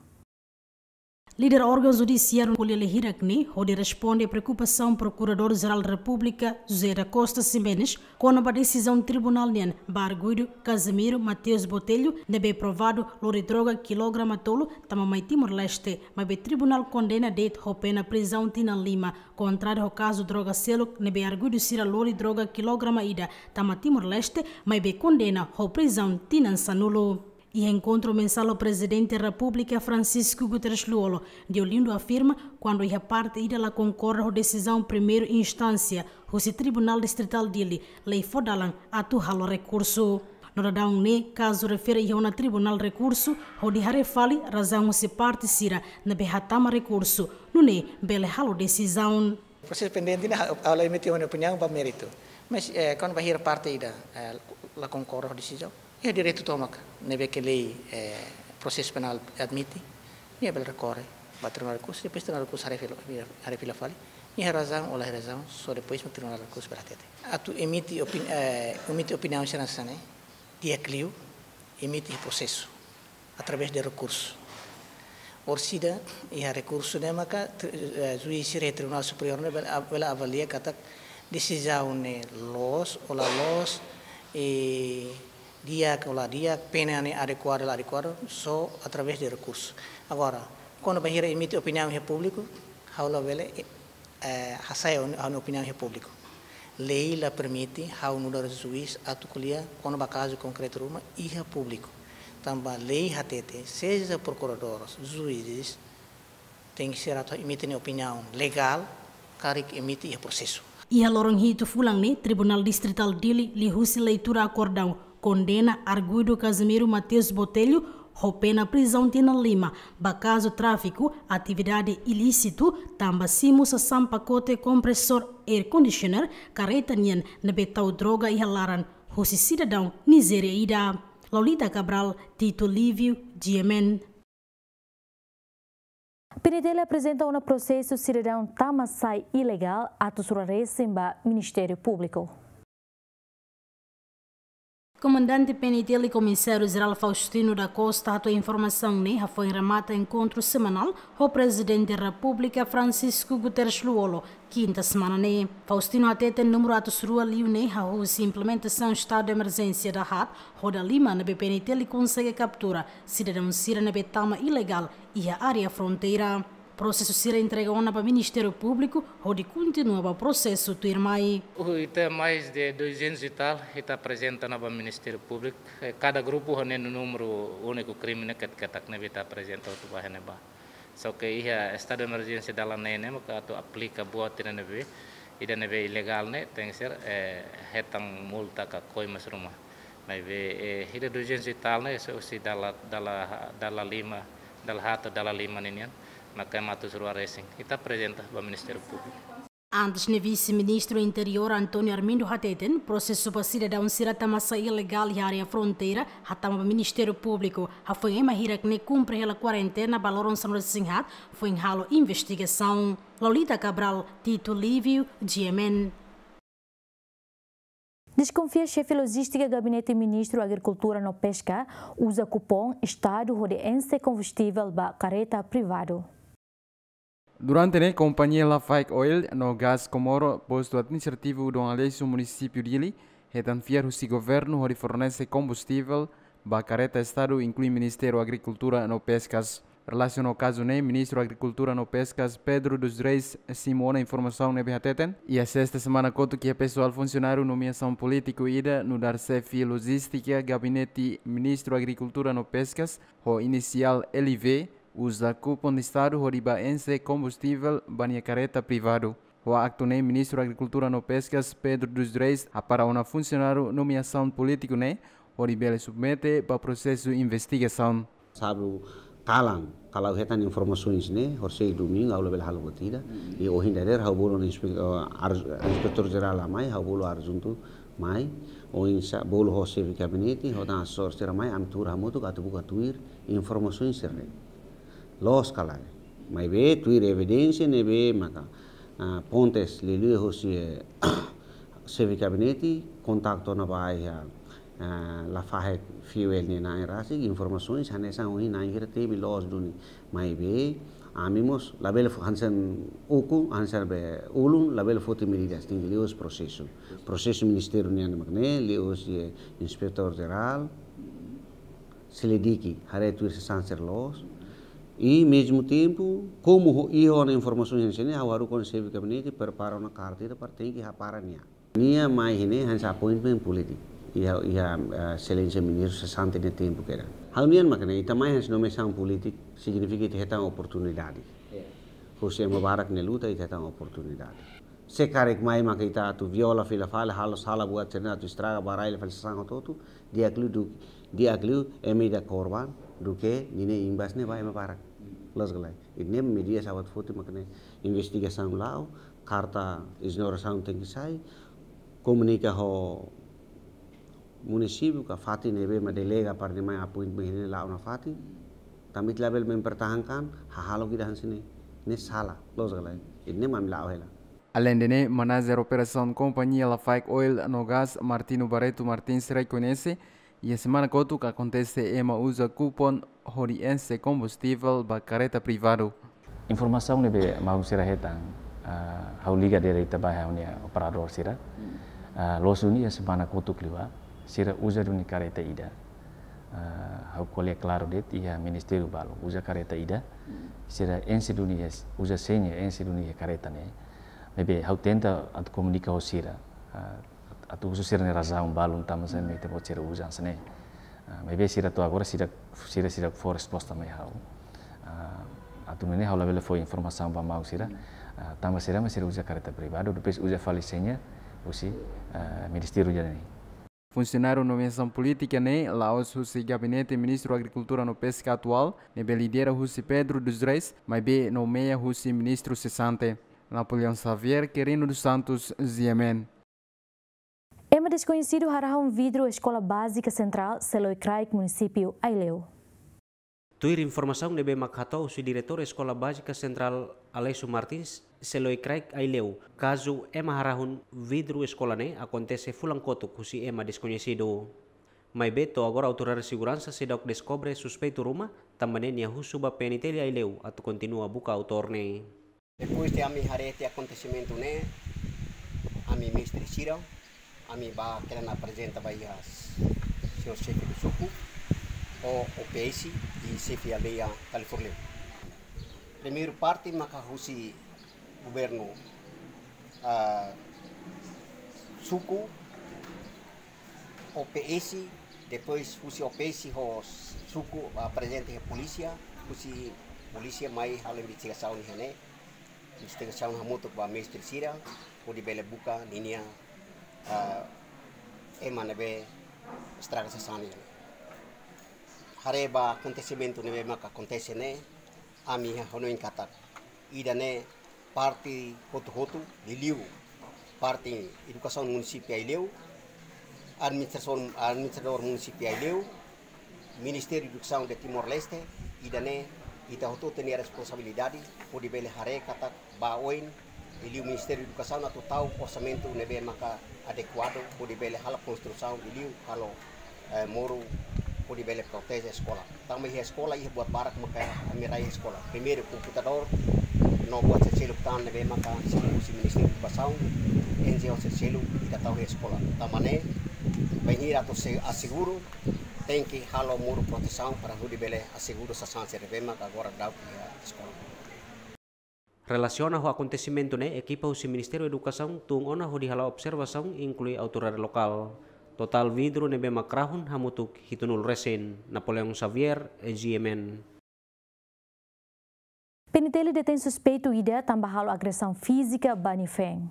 Líder órgaun judisiáriu ko'alia hirak ne'e hodi responde preokupasaun Prokuradór-Jerál Repúblika José da Costa Ximenes kona-ba desizaun tribunál nian ba arguidu Casimiro Mateus Botelho ne'ebé provadu lori droga kilograma tolu tama mai Timor-Leste, maibé tribunál kondena de'it ho pena prizaun tinan lima, kontrariu ho kazu droga seluk ne'ebé arguidu sira lori droga kilograma ida tama Timor-Leste, maibé kondena ho prizaun tinan sanulu. Iha enkontru mensál ho Prezidente Repúblika Francisco Guterres Lú-Olo, Deolindo afirma, kuandu iha parte ida la konkorda ho desizaun primeira instánsia husi Tribunál Distritál Dili, lei fó dalan atu halo rekursu. No daudaun ne'e, kazu refere iha ona Tribunál Rekursu, hodi haree fali razaun husi parte sira ne'ebé hatama rekursu, nune'e bele halo desizaun. Prosesu pendente ne'e, ha'u la emite ha'u-nia opiniaun ba méritu. Mas, eh, kuandu bainhira parte ida, eh, la konkorda ho desizaun, iha direitu tomak ne'ebé ke lei, eh, prosesu penál admite, nia bele rekorre ba Tribunál Rekursu, depois Tribunál Rekursu haree fila, haree fila fali, iha razaun ou la iha razaun, só depois mak Tribunál Rekursu bele hatete. Atu emite opin-, eh, emite opiniaun sira hanesan ne'e, di'ak liu, emite prosesu através de rekursu. Orsida iha rekursu ne'e maka tri-, eh, juís sira Tribunál Superiór ne'e bele, bele avalia katak desizaun ne'e loos ou la loos, i di'ak ou la di'ak, pena ne'e adekuadu ou la adekuadu, só através de rekursu. Agora, kuandu bainhira emite opiniaun iha públiku, ha'u labele, eh, hasai ha'u-nia opiniaun iha públiku. Lei la permite ha'u nu'udar juís atu ko'alia kona-ba kazu konkretu ruma iha públiku. Tanba lei hatete, seja prokuradór, juízes, tenke ser atu emite nia opiniaun legál, karik emite iha prosesu. Iha loron hitu fulan ne'e, Tribunál Distritál Dili liuhusi leitura akordaun kondena arguidu Casimiro Mateus Botelho ho pena prizaun tinan lima ba kazu tráfiku atividade ilísitu tanba simu sasán pakote kompresór air conditioner karreta nian ne'ebé tau droga iha laran husi sidadaun Nizéria ida. Lolita Cabral, Tito Lívio, G M N. PNTL aprezenta ona prosesu sidadaun tama-sai ilegál atus rua resin ba Ministériu Públiku. Komandante PNTL Komisáriu Jerál Faustino da Costa hato'o informasaun ne'e hafoin remata enkontru semanál ho Prezidente Repúblika Francisco Guterres Lú-Olo, kinta semana ne'e. Faustino hateten númeru atus rua liu ne'e hahú husi implementasaun estadu de emerjénsia dahaat ho dalima ne'ebé PNTL konsege kaptura sidadaun sira ne'ebé tama ilegál iha área fronteira. Prosesu sira entrega ona ba Ministériu Públiku hodi kontinua ba prosesu tuirmai. Uh, ita mais de duzentos e tal, ita aprezenta ona ba Ministériu Públiku. Eh, kada grupu ho nia númeru úniku krime ne'e ket-, ketak ne'ebé ita aprezenta atu ba iha ne'ebá. Só ke iha estadu de emerjénsia dala neen ne'e maka atu aplika buat ida ne'ebé, ida ne'ebé ilegál ne'e tenke ser, eh, hetan multa ka koimas ruma. Maibé, eh, ida duzentos e tal ne'e, se husi dala, dala, dala lima, dala haat, dala lima ninian, maka ema atus rua resin. Ita aprezenta ba Ministériu Públiku. Antes ne'e Vise-Ministru Interiór António Armindo hateten, prosesu ba sidadaun sira tama-sai ilegál iha área fronteira hatama ba Ministériu Públiku, hafoin ema hirak ne'e kumpre hela kuarentena ba loron sanulu-resin-haat, foin halo investigasaun. Lolita Cabral, Tito Lívio, G M N. Deskonfia xefe lojístika Gabinete Ministru Agrikultura no Peska uza kupon Estadu hodi enxe kombustivel ba karreta privadu. Durante ne'e, kompañia Lafarge Oil no Gás Comoro, postu administrativu Dom Aleixo, munisípiu Dili, hetan fiar husi governu hodi fornese kombustivel ba karreta Estadu, inklui Ministériu Agrikultura no Peskas. Relasiona ho kazu ne'e, Ministru Agrikultura no Peskas, Pedro dos Reis, simu ona informasaun ne'ebé hateten, iha sesta semana kotuk iha pesoál funsionáriu nomeasaun polítiku ida nu'udar xefe lojístika Gabinete Ministru Agrikultura no Peskas, ho inisiál L V, uza kupon Estadu hodi ba enxe kombustivel ba nia karreta privadu. Ho aktu ne'e, Ministru Agrikultura no Peskas, Pedro dos Reis, hapara ona funsionáriu nomeasaun polítiku ne'e hodi bele submete ba prosesu investigasaun. Sábadu kalan, ha'u hetan informasaun ne'e, horisehik domingu, ha'u labele halo buat ida. I ohin dadeer, ha'u bolu inspe-, eh, ar-, inspetór jerál mai, ha'u bolu adjuntu mai, oinsá bolu ho xefe gabinete, ho tan asesór sira mai, ami tuur hamutuk atu buka tuir informasaun sira-ne'e. Loos ka lae. Maibé tuir evidénsia ne'ebé maka, ah, fontes liuliu hosi, eh, Xefe gabinete kontaktu ona ba iha, ah, Lafaek Fuel nia na'in rasik, informasaun hanesan ohin na'in hira temi loos duni. Maibé ami mós labele fó hanesan ukun, hanesan be ulun, labele foti medidas, tenke liuhusi prosesu. Prosesu ministériu nian mak ne'e, liuhusi, eh, inspetór jerál, selidiki, haree tuir sasán sira loos. I mezmu tempu, komu ho, iha ona informasaun hanesan ne'e, ha'u haruka ona xefe gabinete prepara ona karta ida para tenke hapara nia. Nia mai iha ne'e hanesan appointment polítiku. Iha, iha, eh, exelénsia ministru sesante nia tempu kedas. Ha'u-nian mak ne'e, ita mai hanesan nomeasaun polítiku, signifika ita hetan oportunidade. Iya. Husi ema barak nia luta, ita hetan oportunidade. Se karik mai maka ita atu viola fila fali, halo sala buat sira-ne'e atu estraga, ba rai fali sasán hotu-hotu, di'ak liu du-, di'ak liu ema ida korban, duké ninia imbas ne'e ba ema barak. Loos ka lae? Ida-ne'e medidas ha'u atu foti mak ne'e investigasaun la'o, karta exonerasaun tenke sai, komunika ho munisípiu ka fatin ne'ebé mak delega para nia mai appointment ne'e la'o nafatin. Tanba ita labele mempertahankan hahalok ida hanesan ne'e. Ne'e sala, loos ka lae? Ida-ne'e mak ami la'o hela. Aleinde ne'e, manajer operasaun kompañia Lafaek Oil no Gas, Martino Barreto Martins, rekoñese, iha semana kotuk akontese ema uza kupon hodi enxe kombustivel ba karreta privadu. Informasaun ne'ebé maluk sira hetan, ah, ha'u liga direta ba ha'u-nia operadór sira. Ah, loos duni iha semana kotuk liubá, sira uza duni karreta ida. Ah, ha'u ko'alia klaru de'it, iha ministériu balu uza karreta ida. Sira enxe duni iha, uza seña, enxe duni iha karreta ne'e. Maibé ha'u tenta atu komunika ho sira. Ah, atu husu sira-nia razaun balun tanba sá mak ita-boot sira uza hanesan ne'e. Ah, maibé sira to'o agora sira, sira, sira fó resposta mai ha'u. Ah, atu nune'e ha'u labele fó informasaun ba maluk sira. Ah, tanba sira mak sira uza karreta privadu, depois uza fali seña husi, ah, ministériu ida-ne'e. Funsionáriu nomeasaun polítika ne'e la'ós husi gabinete Ministru Agrikultura no Peska atuál, ne'ebé lidera husi Pedro dos Reis, maibé nomeia husi ministru sesante. Napoleão Xavier, Quirino dos Santos, G M N. Ema deskoñesidu harahun vidru Eskola Bázika Sentrál Seloi Kraik, munisípiu Aileu. Tuir informasaun ne'ebé mak hato'o husi Diretór Eskola Bázika Sentrál Alessio Martins, Seloi Kraik, Aileu, kazu ema harahun vidru eskola ne'e akontese fulan kotuk husi ema deskoñesidu. Maibé to'o agora autoridade seguransa seidauk deskobre suspeitu ruma, tanba ne'e nia husu ba P N T L Aileu atu kontinua buka autór ne'e. Depois de ami haree tiha akontesimentu ne'e, ami mestre sira, ami bá kedan aprezenta ba iha señór xefe do suku, ho O P S i xefe aldeia Kalifurleu. Primeiru parte maka husi governu, ah, suku, O P S, depois husi O P S ho suku aprezenta iha polísia, husi polísia mai halo investigasaun iha ne'e. Investigasaun hamutuk ba mestre sira, hodi bele buka ninia, ah, ema ne'ebé estraga sasán nian. Haree ba akontesimentu ne'ebé maka akontese ne'e, ami hanoin katak ida-ne'e parte hotu-hotu, liuliu parte edukasaun munisípiu Aileu, administrasaun, administradór munisípiu Aileu, Ministériu Edukasaun de Timor-Leste, ida-ne'e ita hotu-hotu iha responsabilidade, hodi bele haree katak ba oin, liuliu Ministériu Edukasaun atu tau orsamentu ne'ebé maka adekuadu, hodi bele halo konstrusaun, liuliu halo, eh, moru, hodi bele proteje eskola. Tanba iha eskola iha buat barak maka ami rai eskola. Primeiru komputadór, no buat sira seluk tan ne'ebé maka husi Ministériu Edukasaun, N G O sira seluk ita tau iha eskola. Tanba ne'e, bainhira atu se aseguru, tenke halo moru protesaun para hodi bele aseguru sasán sira ne'ebé maka agora daudaun iha eskola. Relasiona ho akontesimentu ne'e, ekipa husi Ministériu Edukasaun tun ona hodi hala'o observasaun, inklui autoridade lokál. Totál vidru ne'ebé mak rahun hamutuk hitunulu resin. Napoleão Xavier, G M N. P N T L detein suspeitu ida tanba halo agresaun fízika ba nia feen.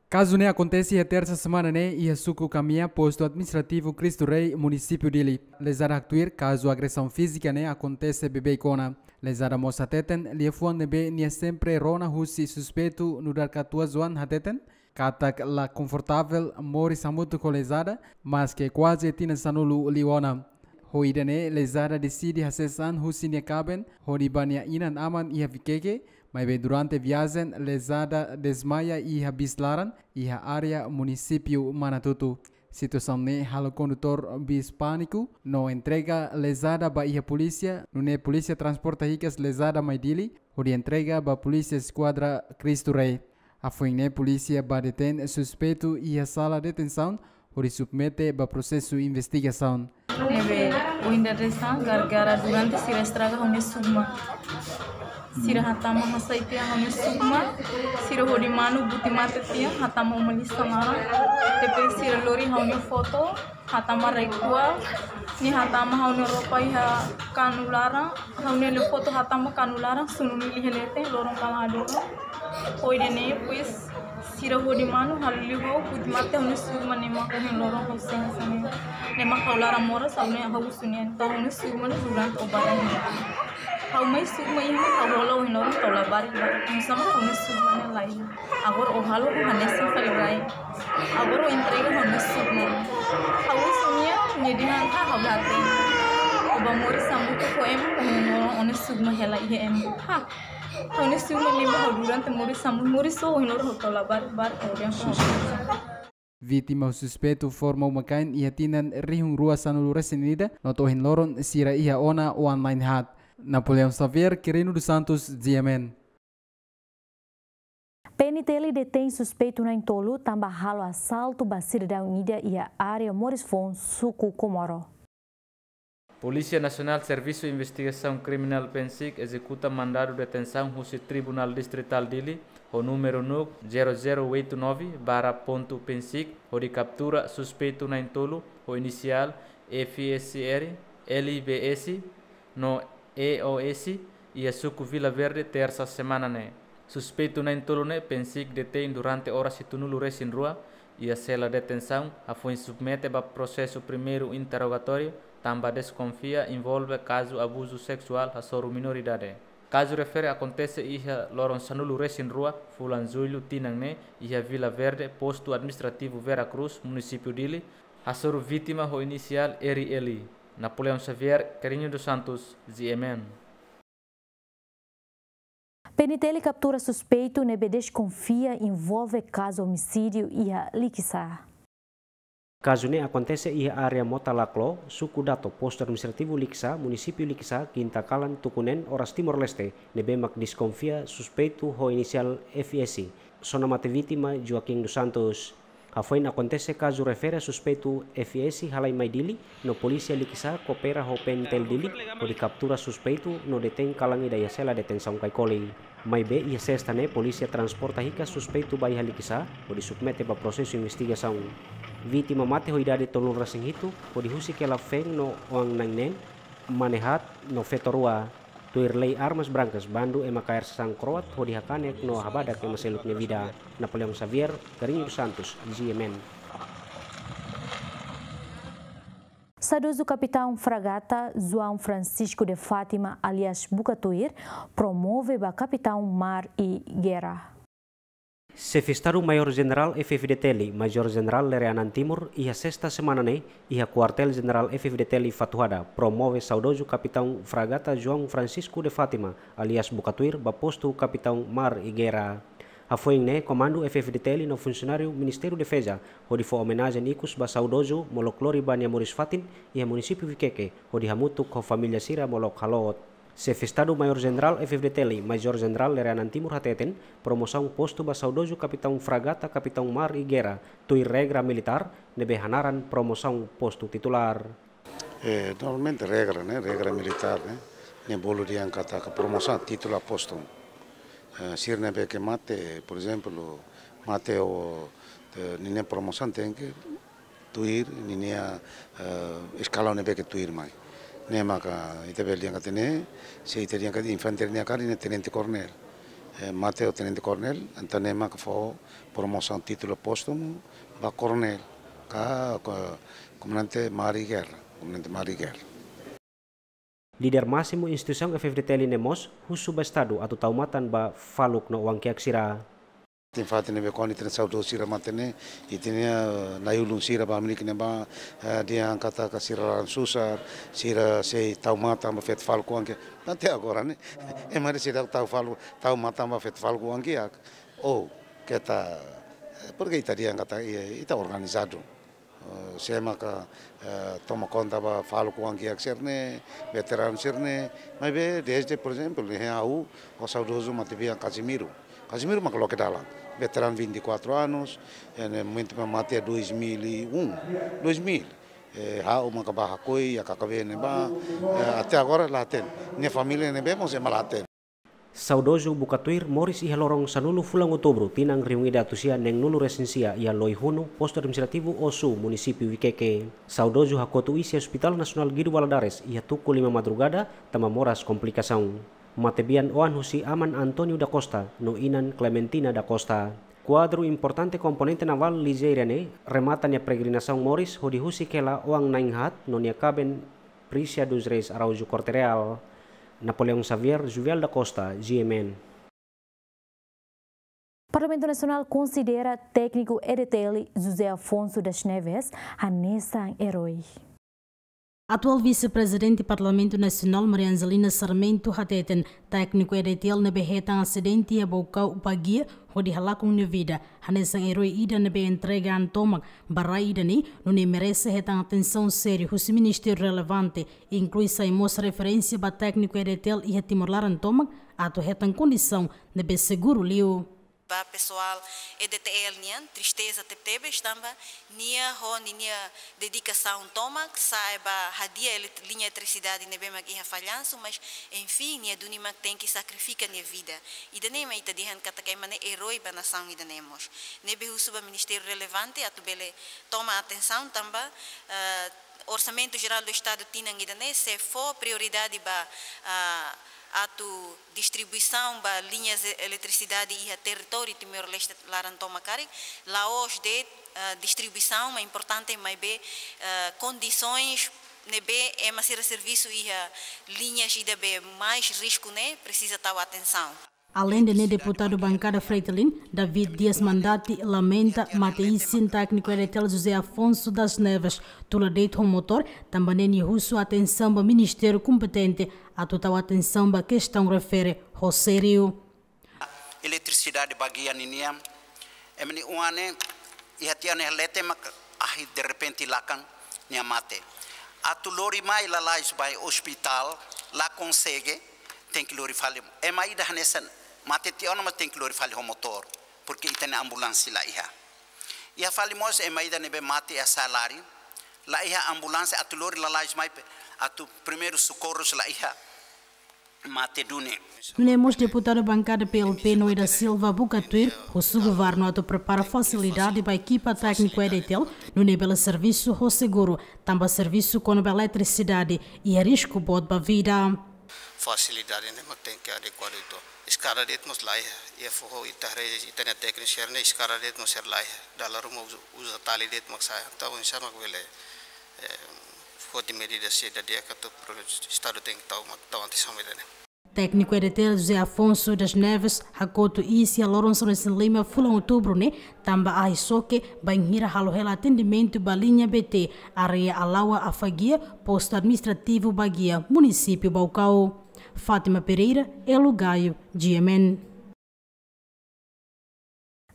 Kazu ne'e akontese iha tersa semana ne'e iha suku Kamia, postu administrativu Cristo Rei, munisípiu Dili. Lezada haktuir kazu agresaun fízika ne'e akontese beibeik ona. Lezada mós hateten, liafuan ne'ebé nia sempre rona husi suspeitu nu'udar katuas-oan hateten katak la konfortavel moris hamutuk ho lezada, maske kuaze tinan sanulu liu ona. Ho ida-ne'e lezada deside hasees an husi nia kaben hodi ba nia inan-aman iha Viqueque, Maibé durante viajen, lezada dezmaia iha bis laran, iha área munisípiu Manatuto. Situasaun ne'e halo kondutór bis pániku, no entrega lezada ba iha polísia, nune'e polísia transporta hikas lezada mai Dili, hodi entrega ba Polísia Eskuadra Cristo Rei. Hafoin ne'e polísia bá detein suspeitu iha sala detensaun, hodi submete ba prosesu investigasaun. Ne'ebé, ohin dadeer-saan, gara-gara durante sira estraga ha'u-nia sugma. Sira hatama hasai tiha ha'u-nia sugma, sira hodi manu buti mate tiha, hatama uma lisan laran. Depois sira lori ha'u-nia foto, hatama rai-kuak, nia hatama ha'u-nia roupa iha kanu laran, ha'u-nia foto hatama kanu laran, sunu nili iha leten, loron kalan hadomi. Hodi ne'e, depois, sira hodi manu, halo liu ha'u, buti mate ha'u-nia sugma ne'e mak ohin loron ha'u sente hanesan ne'e. Ne'e mak ha'u laran moras, ha'u-nia ha'u husu nia, entaun ha'u-nia sugma ne'e durante o bara ne'e. Ha'u mai sugma iha mak ha'u hola ohin loron to'o labarik-barik. Nusá mak ha'u-nia sugma ne'e laiha. Agora o halo hanesan fali rai. Agora o entrega ha'u-nia sugma. Ha'u husu nia, nia dehan ha'u la hatene. O bá moris hamutuk ho ema, ohin loron o-nia sugma hela iha ema. Ha. Ha'u-nia sugma ne'e mak ha'u durante moris hamutuk, moris só, ohin loron ha'u to'o labarik-barik, ha'u dehan ha'u. Vítima ho suspeitu forma uma-kain iha tinan rihun rua sanulu resin ida, no to'o ohin loron sira iha ona oan-na'in haat. Napoleão Xavier, Quirino dos Santos, G M N. P N T L detein suspeitu na'in-tolu tanba halo asaltu ba sidadaun ida iha área moris foun, suku Comoro. Polísia Nasionál Servisu Investigasaun Kriminál, PNSIK, ezekuta mandadu detensaun husi Tribunál Distritál Dili ho númeru NUC zero zero oito nove barra ponto PNSIK, hodi kaptura suspeitu na'in-tolu ho inisiál F S R, L B S, no E O S, iha suku Vila Verde, tersa semana ne'e. Suspeitu na'in-tolu ne'e PNSIK detein durante oras hitunulu resin rua iha sela detensaun, hafoin submete ba prosesu primeiru interrogatóriu, tanba deskonfia envolve kazu abuzu seksuál hasoru minoridade. Kazu refere akontese iha loron sanulu resin rua fulan Jullu tinan ne'e, iha Vila Verde, Postu Administrativu Vera Cruz, Munisípiu Dili, hasoru vítima ho inisiál R L. Napoleão Xavier, Quirino dos Santos, G M N. P N T L kaptura suspeitu ne'ebé deskonfia envolve kazu omisídiu iha Likisá. Kazu ne'e akontese iha área Mota Laklo, suku Dato, Postu Administrativu Likisá, Munisípiu Likisá, kinta kalan tuku neen oras Timor-Leste, ne'ebé mak deskonfia suspeitu ho inisiál F S. Sona mate vítima Joaquim dos Santos. Hafoin akontese kazu refere suspeitu F S halai mai Dili, no polísia Likisá koopera ho P N T L Dili, hodi kaptura suspeitu no detein kalan ida iha sela detensaun Caicoli. Maibé iha sesta ne'e polísia transporta hikas suspeitu ba iha Likisá, hodi submete ba prosesu investigasaun. Vítima mate ho idade tolunulu resin hitu, hodi husik hela feen no oan-na'in neen, mane haat no feto rua. Tuir lei armas brankas, bandu ema kaer sasán kro'at hodi hakanek no habadak ema seluk nia vida. Napoleão Xavier, Quirino dos Santos, G M N. Saudozu Kapitaun Fragata João Francisco de Fátima, alias Buka Tuir, promove ba Kapitaun Mar i Gerra. Xefe Estadu Maiór Jenerál F-FDTL, Majór Jenerál Lere Anan Timur, iha sesta semana ne'e, iha Kuartél Jenerál F-FDTL Fatuhada, promove saudozu Kapitaun Fragata João Francisco de Fátima, alias Buka Tuir, ba postu Kapitaun Mar i Gerra. Hafoin ne'e, Komandu F-FDTL no funsionáriu Ministériu Defeza, hodi fó omenajen ikus ba saudozu, molok lori ba nia moris-fatin, iha munisípiu Viqueque, hodi hamutuk ho família sira molok haloot. Xefe Estadu Maiór Jenerál F-FDTL, Majór Jenerál Lere Anan Timur hateten, promosaun postu ba saudozu Kapitaun Fragata Kapitaun Mar i Gerra, tuir regra militár, ne'ebé hanaran promosaun postu titulár. Eh, normalmente regra, ne'e, regra militár, ne'e, ne'e bolu dehan katak promosaun titulár postu. Eh, sira ne'ebé ke mate, por ezemplu, mate ho, eh, ninia promosaun tenke tuir ninia, eh, eskalaun ne'ebé ke tuir mai. Ne'e maka ita bele dehan katak ne'e, se ita dehan katak infante nia karik ne'e tenente koronél. Eh, mate ho tenente koronél, entaun ne'e maka fó promosaun titulár póstumu ba koronél, ka, ka komandante Mar i Gerra, komandante Mar i Gerra. Líder másimu instituisaun F-FDTL ne'e mós husu ba Estadu atu tau matan ba faluk no oan-kiak sira. Fatin-fatin ne'ebé kuandu ita-nia saudozu sira mate ne'e, ita-nia, eh, na'i-ulun sira ba Amilique ne'ebá, eh, dehan katak sira laran susar, sira sei tau matan ba feto fali kuanke. Até agora ne'e, ema seidauk tau fali, tau matan ba feto fali kuanke. Oh, keta, eh, porke ita dehan katak, eh, ita organizadu. Eh, sé maka, eh, toma konta ba fali kuanke sira-ne'e, veteranu sira-ne'e, maibé desde, por ezemplu, ne'e ha'u ho saudozu matebian Casimiro. Casimiro maka loke dalan, veteranu vinte e quatro anos, eh, ne'e momentu mate dois mil e um, dois mil. Eh, ha'u maka ba hakoi iha K K B ne'ebá, eh, até agora la hatene. Nia família ne'ebé mós ema la hatene. Saudozu Buka Tuir moris iha loron sanulu fulan Outubru tinan rihun ida atus sia neen-nulu resin sia iha Loihunu, Postu Administrativu Osu, Munisípiu Viqueque. Saudozu hakotu iis iha Hospital Nasionál Guido Valadares iha tuku lima madrugada tanba moras komplikasaun. Matebian oan husi aman António da Costa no inan Clementina da Costa. Kuadru importante komponente navál ligeira ne'e remata nia peregrinasaun moris hodi husik hela oan na'in-haat no nia kaben Prícia dos Reis Araújo Corte Real. Napoleão Xavier, Juvial da Costa, G M N. Parlamentu Nasionál konsidera tékniku E D T L José Afonso das Neves hanesan erói. Atuál Vise-Prezidente Parlamentu Nasionál Maria Angelina Sarmento hateten, tékniku E D T L ne'ebé hetan asidente iha Baucau, Baguia, hodi halakon nia vida, hanesan erói ida ne'ebé entrega an tomak ba rai ida-ne'e, nune'e merese hetan atensaun sériu husi ministériu relevante, inklui sai mós referénsia ba tékniku E D T L iha Timor laran tomak, atu hetan kondisaun ne'ebé seguru liu. Ba pesoál E D T L nian, tristeza tebetebes tanba nia ho ninia dedikasaun tomak sa'e ba hadi'a elet-, liña eletrisidade ne'ebé mak iha fallansu, mas, enfin, nia duni mak tenke sakrifika nia vida. Ida-ne'e mak ita dehan katak ema ne'e erói ba nasaun ida-ne'e mós. Ne'ebé husu ba ministériu relevante atu bele toma atensaun tanba, eh, Orsamentu Jerál do Estadu tinan ida-ne'e sei fó prioridade ba, ah, atu distribuisaun ba liñas e-, eletrisidade iha territóriu Timor-Leste laran tomak karik, la'ós de'it, ah, distribuisaun, mak importante maibé, ah, kondisoens ne'ebé ema sira servisu iha liñas ida be mais risku ne'e presiza tau atensaun. Aleinde ne'e, deputadu bankada Fretilin, David Dias Mandati, lamenta mate isin tékniku E D T L José Afonso das Neves, tula de'it ho motór, tanba ne'e nia husu atensaun ba ministériu kompetente atu tau atensaun ba kestaun refere ho sériu. Eletrisidade Baguia ninian, ema nia oan ne'e iha tiha ona iha leten mak ahi derrepente lakan nia mate. Atu lori mai lalais ba ospitál la konsege, tenke lori fali. Ema ida hanesan mate tiha ona, mas tenke lori fali ho motór, porke ita-nia ambulánsia la iha. Iha fali mós ema ida ne'ebé mate iha sala laran, la iha ambulánsia atu lori lalais mai pe, atu primeiru sokorrus la iha. Mate duni. Nune'e mós deputadu bankada P L P Noé da Silva Buka Tuir husu governu atu prepara fasilidade ba ekipa tékniku E D T L, nune'e bele servisu ho seguru, tanba servisu kona-ba eletrisidade iha risku boot ba vida. Fasilidade ne'e mak tenke adekuadu uitoan. Eskada de'it mós la iha, iha foho ita haree ita-nia tékniku sira-ne'e eskada de'it mós sira la iha. Dala ruma uza, uza tali de'it mak sa'e. Entaun, oinsá mak bele, eh, foti medida sira di'ak atu pro-, Estadu tenke tau, mak tau atensaun ba ida-ne'e. Tékniku E D T L José Afonso das Neves hakotu iis iha loron sanulu-resin-lima fulan Outubru ne'e, tanba ahi xoke bainhira halo hela atendimentu ba liña B T, área Alaua Afaguia, Postu Administrativu Baguia, Munisípiu Baucau. Fátima Pereira, Elo Gaio, G M N.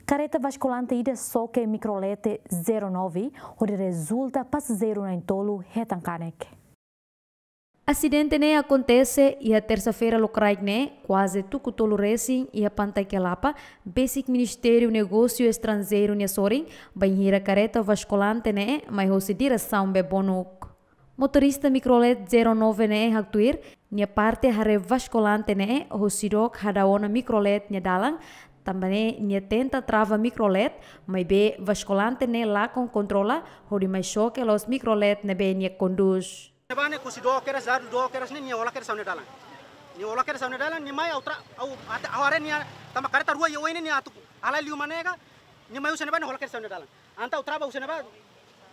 Kareta vaskulante ida xoke mikrolet zero nove, hodi rezulta pasajeiru na'in-tolu hetan kanek. Asidente ne'e akontese iha tersa-feira lokraik ne'e, kuaze tuku tolu resin, iha Pantai Quelapa, besik Ministériu Negósiu Estranjeiru nia sorin, bainhira kareta vaskulante ne'e mai hosi diresaun Bebonuk. Motorista mikrolet zero nove ne'e haktuir, nia parte haree vaskulante ne'e hosi dook hadau ona mikrolet nia dalan, tanba ne'e nia tenta trava mikrolet, maibé vaskulante ne'e lakon kontrola, hodi mai xoke loos mikrolet ne'ebé nia kondús. Ne'ebá ne'e husi dook kedas, dadu dook kedas ne'e nia hola kedas ha'u-nia dalan. Nia hola kedas ha'u-nia dalan, nia mai ha'u tra-, ha'u ate-, ha'u haree nia, tanba kareta rua iha oin ne'e nia atu halai liu manega, nia mai husi ne'ebá nia hola kedas ha'u-nia dalan. Entaun ha'u trava husi ne'ebá,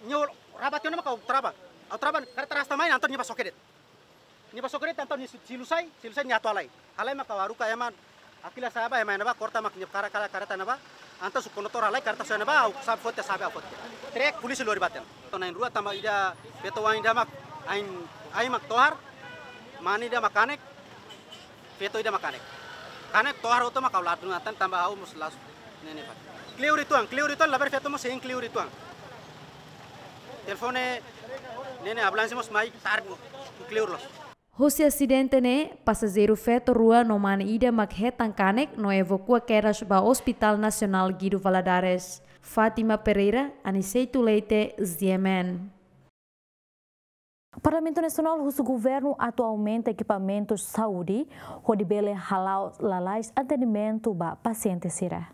nia hola, raba tiha ona mak ha'u trava. Ha'u trava, kareta rasta mai, entaun nia bá xoke de'it. Nia bá xoke de'it, entaun nia si-, silu sai, silu sai nia atu halai. Halai mak ha'u haruka ema, hakilar sa'e ba, ema iha ne'ebá, korta mak nia kara-, kara-, kareta ne'ebá. Entaun se kondutór halai kareta sira ne'ebá, ha'u xave foti, xave ha'u foti. Trek polísia lori ba tiha ona. Entaun na'in-rua tanba ida feto oan ida mak ain, ain mak tohar, mane ida mak kanek, feto ida mak kanek. Kanek tohar hotu mak ha'u ladún atan tanba ha'u mós la'ós ne'e ne'e fali. Kleur uitoan, kleur uitoan, labele feto mós hein kleur uitoan. Telefone ne'e ne'e ambulánsia mós mai tarde kleur loos. Husi asidente ne'e, pasajeiru feto rua no mane ida mak hetan kanek no evakua kedas ba Hospital Nasionál Guido Valadares. Fátima Pereira, Aniceto Leite, G M N. Parlamentu Nasionál husu governu atu aumenta ekipamentus saúde, hodi bele hala'o lalais atendimentu ba pasiente sira.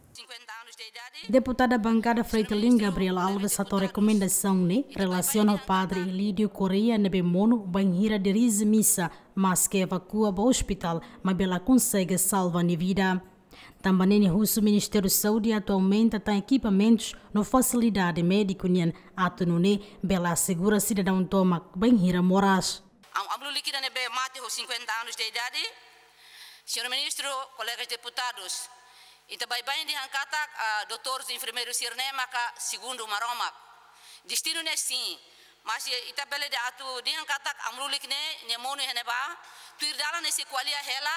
Deputada bankada Fretilin, Gabriel Alves, hato'o rekomendasaun ne'e relasiona ho Padre Elidio Correia ne'ebé monu bainhira dirije misa, maske evakua ba ospitál, maibé la konsege salva nia vida. Tanba ne'e nia husu Ministériu Saúde atu aumenta tan ekipamentus no fasilidade médiku nian atu nune'e bele asegura sidadaun tomak bainhira moras. Am-, amlulik ida ne'ebé mate ho cinquenta anos de idade. Señór Ministru, kolegas deputadus, ita baibain dehan katak, ah, doutores, enfermeirus sira-ne'e maka segundu Maromak. Destinu ne'e sin, mas ita bele dehan atu dehan katak amlulik ne'e, nia monu iha ne'ebá, tuir dalan ne'e sei ko'alia hela,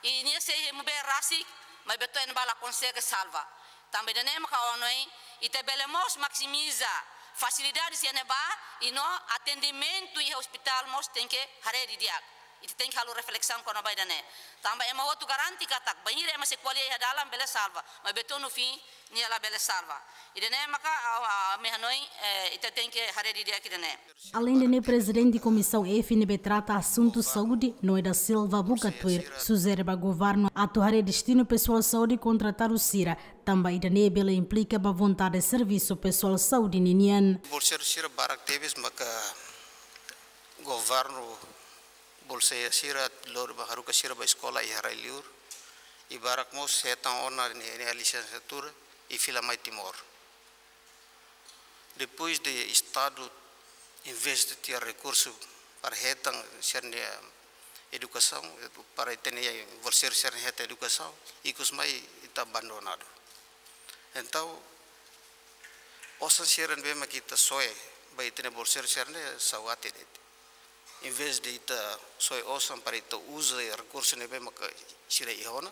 i nia sei hemu bee rasik, maibé to'o iha ne'ebá la konsege salva. Tanba ida-ne'e maka ohin ita bele mós maksimiza fasilidades iha ne'ebá, i no atendimentu iha ospitál mós tenke haree didi'ak. Ita tenke halo reflesaun kona-ba ida-ne'e. Tanba ema hotu garante katak bainhira ema sei ko'alia iha dalan bele salva, maibé to'o no fim nia la bele salva. Ida-ne'e maka, ah, ah, ami hanoin, eh, ita tenke haree didi'ak ida-ne'e. Aleinde ne'e, Prezidente Komisaun F ne'ebé trata asuntu saúde, Noé da Silva, buka tuir sujere ba governu atu haree destinu pesoál saúde kontratadu sira, tanba ida-ne'e bele implika ba vontade servisu pesoál saúde ninian. Bolseiru sira barak tebes maka governu bolseia sira lori ba haruka sira ba eskola iha rai-liur. I barak mós hetan ona nia, nia lisensiatura i fila mai Timor. Depois de Estadu investe tiha rekursu para hetan sira-nia edukasaun, para ita-nia bolseiru sira hetan edukasaun, ikus mai ita abandonadu. Entaun, osan sira ne'ebé mak ita soe ba ita-nia bolseiru sira-ne'e sauate de'it. Em vez de ita soe osan para ita uza rekursu ne'ebé maka sira iha ona,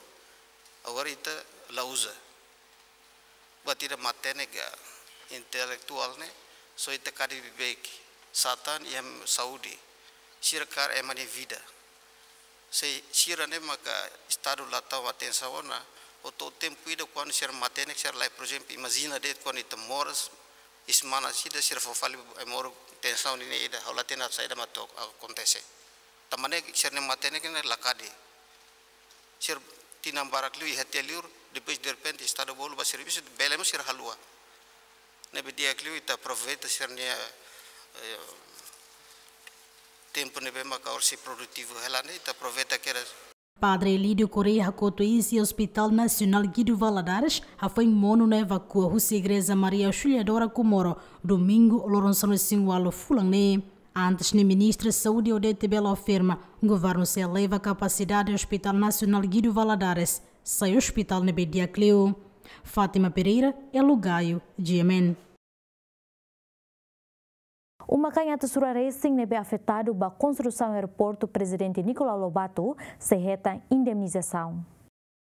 agora ita la uza. Buat ida matenek ka intelektuál ne'e, só ita kadi beibeik satan iha saúde. Sira kaer ema nia vida. Se sira-ne'e maka Estadu la tau atensaun ona, hotu tempu ida kuandu sira matenek, sira la, por ezemplu, imajina de'it kuandu ita moras, semana ida sira fó fali ema oru tensaun ne'e ida, ha'u la hatene saida mak atu akontese. Tanba ne'e sira-nia matenek ne'e la kadi. Sira tinan barak liu iha tiha liur, depois derrepente Estadu bolu ba servisu, bele mós sira haluha. Ne'ebé di'ak liu ita aproveita sira-nia, eh, tempu ne'ebé maka orsida produtivu hela ne'e, ita aproveita kedas. Padre Elidio Correia hakotu iis iha Hospital Nasionál Guido Valadares, hafoin monu no evakua husi Igreja Maria Auxiliadora Comoro, Domingu, loron sanulu-resin-ualu fulan ne'e. Antes ne'e, Ministra Saúde Odete Bello afirma, governu sei eleva kapasidade Hospital Nasionál Guido Valadares sai ospitál ne'ebé di'ak liu. Fátima Pereira, Elo Gaio, G M N. Uma kain atus rua resin ne'ebé afetadu ba konstrusaun aeroportu Prezidente Nicolau Lobato sei hetan indemnizasaun.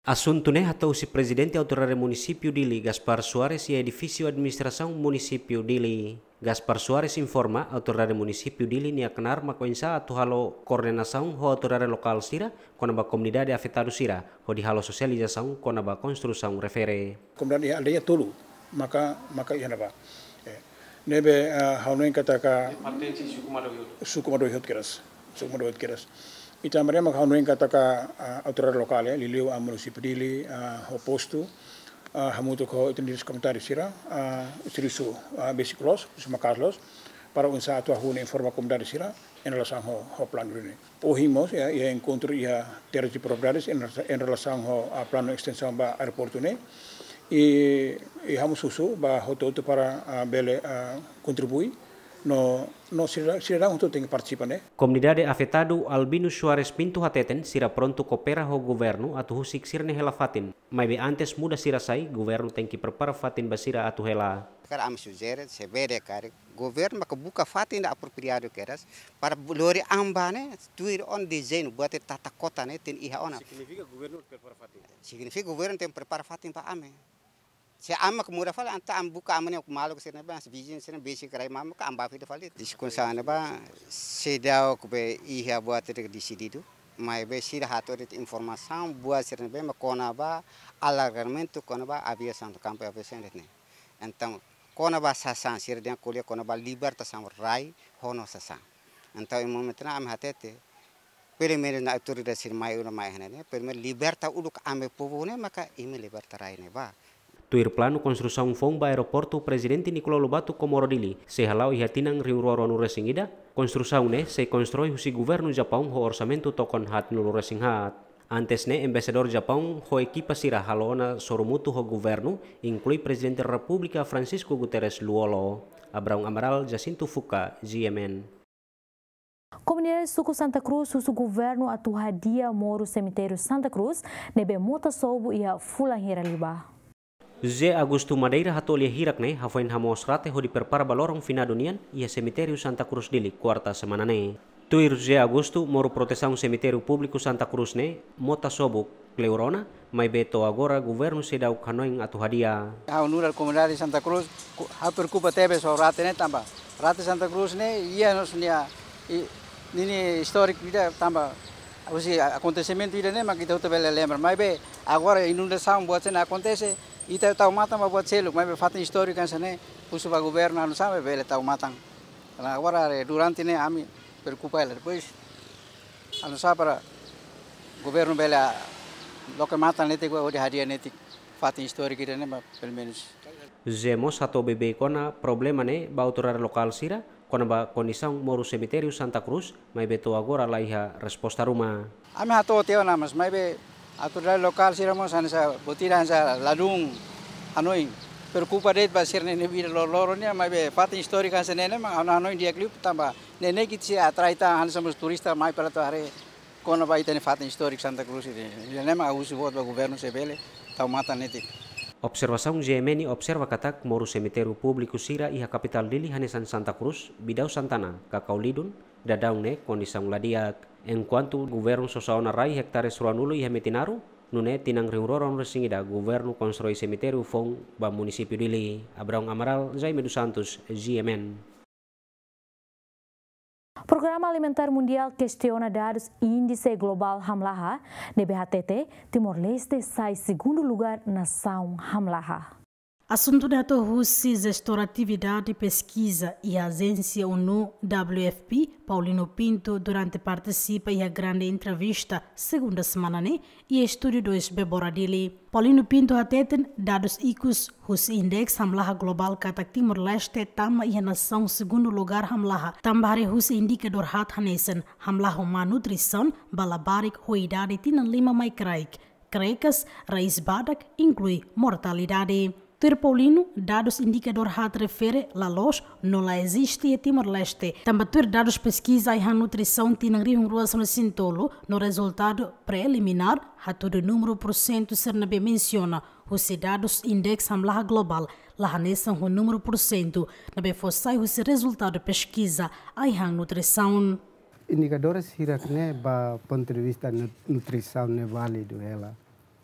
Asuntu ne'e hato'o husi Prezidente Autoridade Munisípiu Dili, Gaspar Soares, iha edifísiu administrasaun Munisípiu Dili. Gaspar Soares informa Autoridade Munisípiu Dili nia knaar mak oinsá atu halo koordenasaun ho autoridade lokál sira kona-ba komunidade afetadu sira, hodi halo sosializasaun kona-ba konstrusaun refere. Komunidade iha aldeia tolu maka, maka iha ne'ebá. Eh, ne'ebé, ah, ha'u hanoin katak pertense suku Madoihotu. Suku Madoihotu kedas. Suku Madoihotu kedas. Ita maria maka ha'u hanoin katak, ah, autoridade lokál, eh, liuliu, ah, Munisípiu Dili, ah, ho postu, ah, hamutuk ho ita-nia komunitáriu sira, ah, servisu, ah, basic loos, servisu maka'as loos, para oinsá atu hahú no informa komunidade sira, em relação ho, ho planu ne'e. Ohin mós, iha, iha enkontru iha terras e propriedades, em, em relação ho, ah, planu estensaun ba aeroportu ne'e. I, i ha'u mós husu ba hotu-hotu para, ah, bele, ah, kontribui, No, no sira, sira hotu tenke partisipa ne'e. Komunidade afetadu Albino Soares Pinto hateten sira prontu koopera ho governu atu husik sira-nia hela fatin. Maibé antes muda sira sai, governu tenke prepara fatin ba sira atu hela. Karik ami sujere, se bele karik, governu maka buka fatin ida apropriadu kedas, para lori an ba ne'e, tuir ona dezeñu, buat tata kota ne'e, tenke iha ona. Signifika governu prepara fatin? Signifika governu tenke prepara fatin ba ami. Se ami mak muda fali, entaun ami buka ami-nia maluk sira-ne'e, bá, viziñu sira-ne'e, besik rai mamuk, ami bá fali. Diskusaun ne'ebá, seidauk be iha buat ida desididu, maibé sira hato'o de'it informasaun, buat sira-ne'ebé, mak kona-ba alargamentu, kona-ba aviasaun, kampu aviasaun de'it ne'e. Entaun, kona-ba sasán, sira dehan ko'alia kona-ba libertasaun rai, ho no sasán. Entaun, iha momentu ne'e ami hatete, pelumenus naran autoridade sira mai uluk mai iha ne'e, pelumenus liberta uluk ami povu ne'e, maka imi liberta rai ne'ebá. Tuir planu konstrusaun foun ba aeroportu Prezidente Nicolau Lobato Comoro Dili, sei hala'o iha tinan rihun rua ruanulu resin ida, konstrusaun ne'e sei konstrui husi governu Japaun ho orsamentu tokon haatnulu resin haat. Antes ne'e, Embaixadór Japaun ho ekipa sira halo ona sorumutu ho governu, inklui Prezidente Repúblika Francisco Guterres Lú-Olo. Abraão Amaral, Jacinto Fuca, G M N. Komunidade suku Santa Cruz husu governu atu hadi'a moru semitériu Santa Cruz ne'ebé mota sobu iha fulan hira liubá. José Augusto Madeira hato'o lia hirak ne'e hafoin hamoos rate hodi prepara ba loron finadu nian iha semitériu Santa Cruz Dili, kuarta semana ne'e. Tuir José Augusto, moru protesaun semitériu públiku Santa Cruz ne'e mota sobu kleur ona, maibé to'o agora governu seidauk hanoin atu hadi'a. Ha'u nu'udar komunidade Santa Cruz, ku-, ha'u preokupa tebes ho rate ne'e tanba rate Santa Cruz ne'e iha nos nia, i, ninia istóriku ida tanba husi a-, akontesimentu ida-ne'e mak ita hotu bele lembra. Maibé agora inundasaun buat sira-ne'e akontese, ita tau matan ba buat seluk, maibé fatin istóriku hanesan ne'e, husu ba governu anu sampai bele tau matan. Karena agora, eh, durante ne'e ami preokupa hela. Depois, anu sa para governu bele, ah, loke matan netik, hodi hadi'a netik fatin istóriku ida-ne'e, ba, pelumenus. José mós hato'o beibeik ona problema ne'e ba autoridade lokál sira, kona-ba kondisaun moru semitériu Santa Cruz, maibé to'o agora la iha resposta ruma. Ami hato'o tiha ona, mas maibé autoridade lokál sira mós hanesan, buat ida hanesan ladún hanoin. Preokupa de'it ba sira-nia vida loroloron nian, maibé fatin istóriku hanesan ne'e, mak ha'u hanoin di'ak liu tanba ne'e ne'e ita sei atrai tan hanesan mós turista mai para atu haree kona-ba ita-nia fatin istóriku Santa Cruz ida-ne'e. Ida-ne'e mak ha'u husu boot ba governu se bele tau matan netik. Observasaun G M N observa katak moru semitériu públiku sira iha kapitál Dili hanesan Santa Cruz, Bidau Santana, Kakau Lidun, daudaun ne'e kondisaun la di'ak. Enkuantu governu sosa ona rai ektares ruanulu iha Metinaro, nune'e tinan rihun rua ruanulu resin ida governu konstrui semitériu foun ba munisípiu Dili. Abraão Amaral, Jaime dos Santos, G M N. Programa Alimentár Mundiál kestiona dadus Índise Globál Hamlaha, ne'ebé hatete Timor-Leste sai segundu lugár nasaun hamlaha. Asuntu ne'e hato'o husi jestór atividade peskiza iha ajénsia ONU W F P, Paulino Pinto, durante partisipa iha grande entrevista, segunda semana ne'e, iha Estúdiu dois Bebora Dili. Paulino Pinto hateten, dadus ikus husi Índise Hamlaha Globál katak Timor-Leste tama iha nasaun segundu lugár hamlaha, tanba haree husi indikadór haat hanesan hamlaha ho má nutrisaun ba labarik ho idade tinan lima mai kraik, krekas, raiz badak, inklui mortalidade. Tuir Paulino, dadus indikadór haat refere la loos no la eziste iha Timor-Leste. Tanba tuir dadus peskiza ai-han nutrisaun tinan rihun rua sanulu resin tolu, no rezultadu preliminár hatudu númeru pursentu sira ne'ebé mensiona husi dadus Índise Hamlaha Globál la hanesan ho númeru pursentu ne'ebé fó sai husi rezultadu peskiza ai-han nutrisaun. Indikadores hirak ne'e ba pontu de vista nu-, nutrisaun ne'e válidu hela.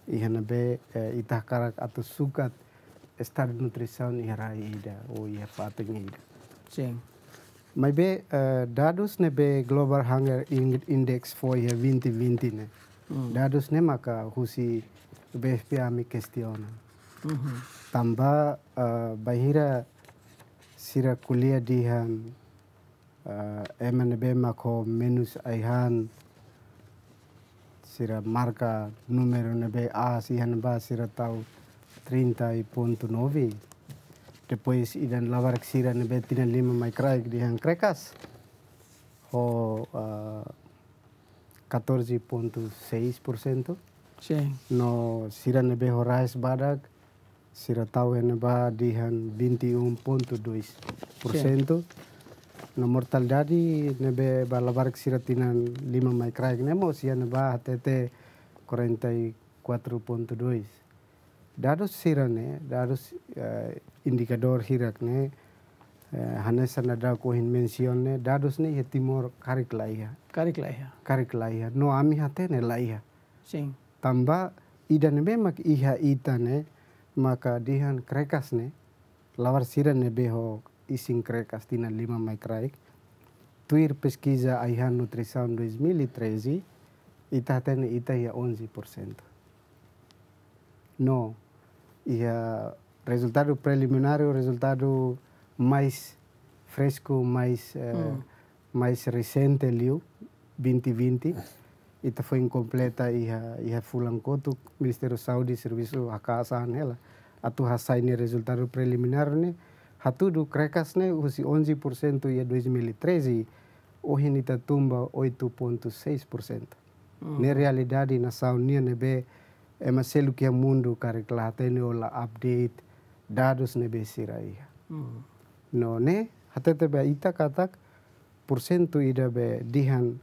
Iha ne'ebé, eh, ita hakarak atu sukat estadu nutrisaun iha rai ida ou iha fatin ida. Sin. Maibé, eh, dadus ne'ebé Global Hunger In-, Index fó iha vinte vinte ne'e. Hmm. Dadus ne'e maka husi W F P ami kestiona. Mhm. Tanba, eh, bainhira sira ko'alia dehan, eh, ema ne'ebé mak ho menus ai-han, sira marka númeru ne'ebé aas iha ne'ebá sira tau trinta ponto nove. Depois ida-ne'e labarik sira ne'ebé tinan lima mai kraik dehan krekas ho, eh, catorze ponto seis por cento. Sin. No sira ne'ebé ho raiz badak, sira tau iha ne'ebá dehan vinte e um ponto dois por cento. Sin. No mortalidade ne'ebé ba labarik sira tinan lima mai kraik ne'e mós iha ne'ebá hatete quarenta e quatro ponto dois. Dadus sira-ne'e, dadus, eh, indikadór hirak ne'e, eh, hanesan daudaun ohin mensiona ne'e, dadus ne'e iha Timor karik la iha. Karik la iha. Karik la iha. No ami hatene la iha. Sin. Tanba ida ne'ebé mak iha ita ne'e, maka dehan krekas ne'e, labarik sira ne'ebé ho isin krekas tinan lima mai kraik. Tuir peskiza ai-han nutrisaun dois mil e treze, ita hatene ita iha onze por cento. No, iha rezultadu preliminár, rezultadu mais fresku, mais, eh, Hmm. mais resente liu, vinte vinte, ita foin kompleta iha, iha fulan kotuk, Ministériu Saúde servisu haka'as an hela atu hasai nia rezultadu preliminár ne'e, hatudu krekas ne'e husi onze por cento iha dois mil e treze, ohin ita tun ba oito ponto seis por cento. Hmm. Ne'e realidade nasaun nian ne'ebé ema seluk iha mundu karik la hatene ou la update dadus ne'ebé sira iha. Hmm. No ne'e hatete ba ita katak porsentu ida be dehan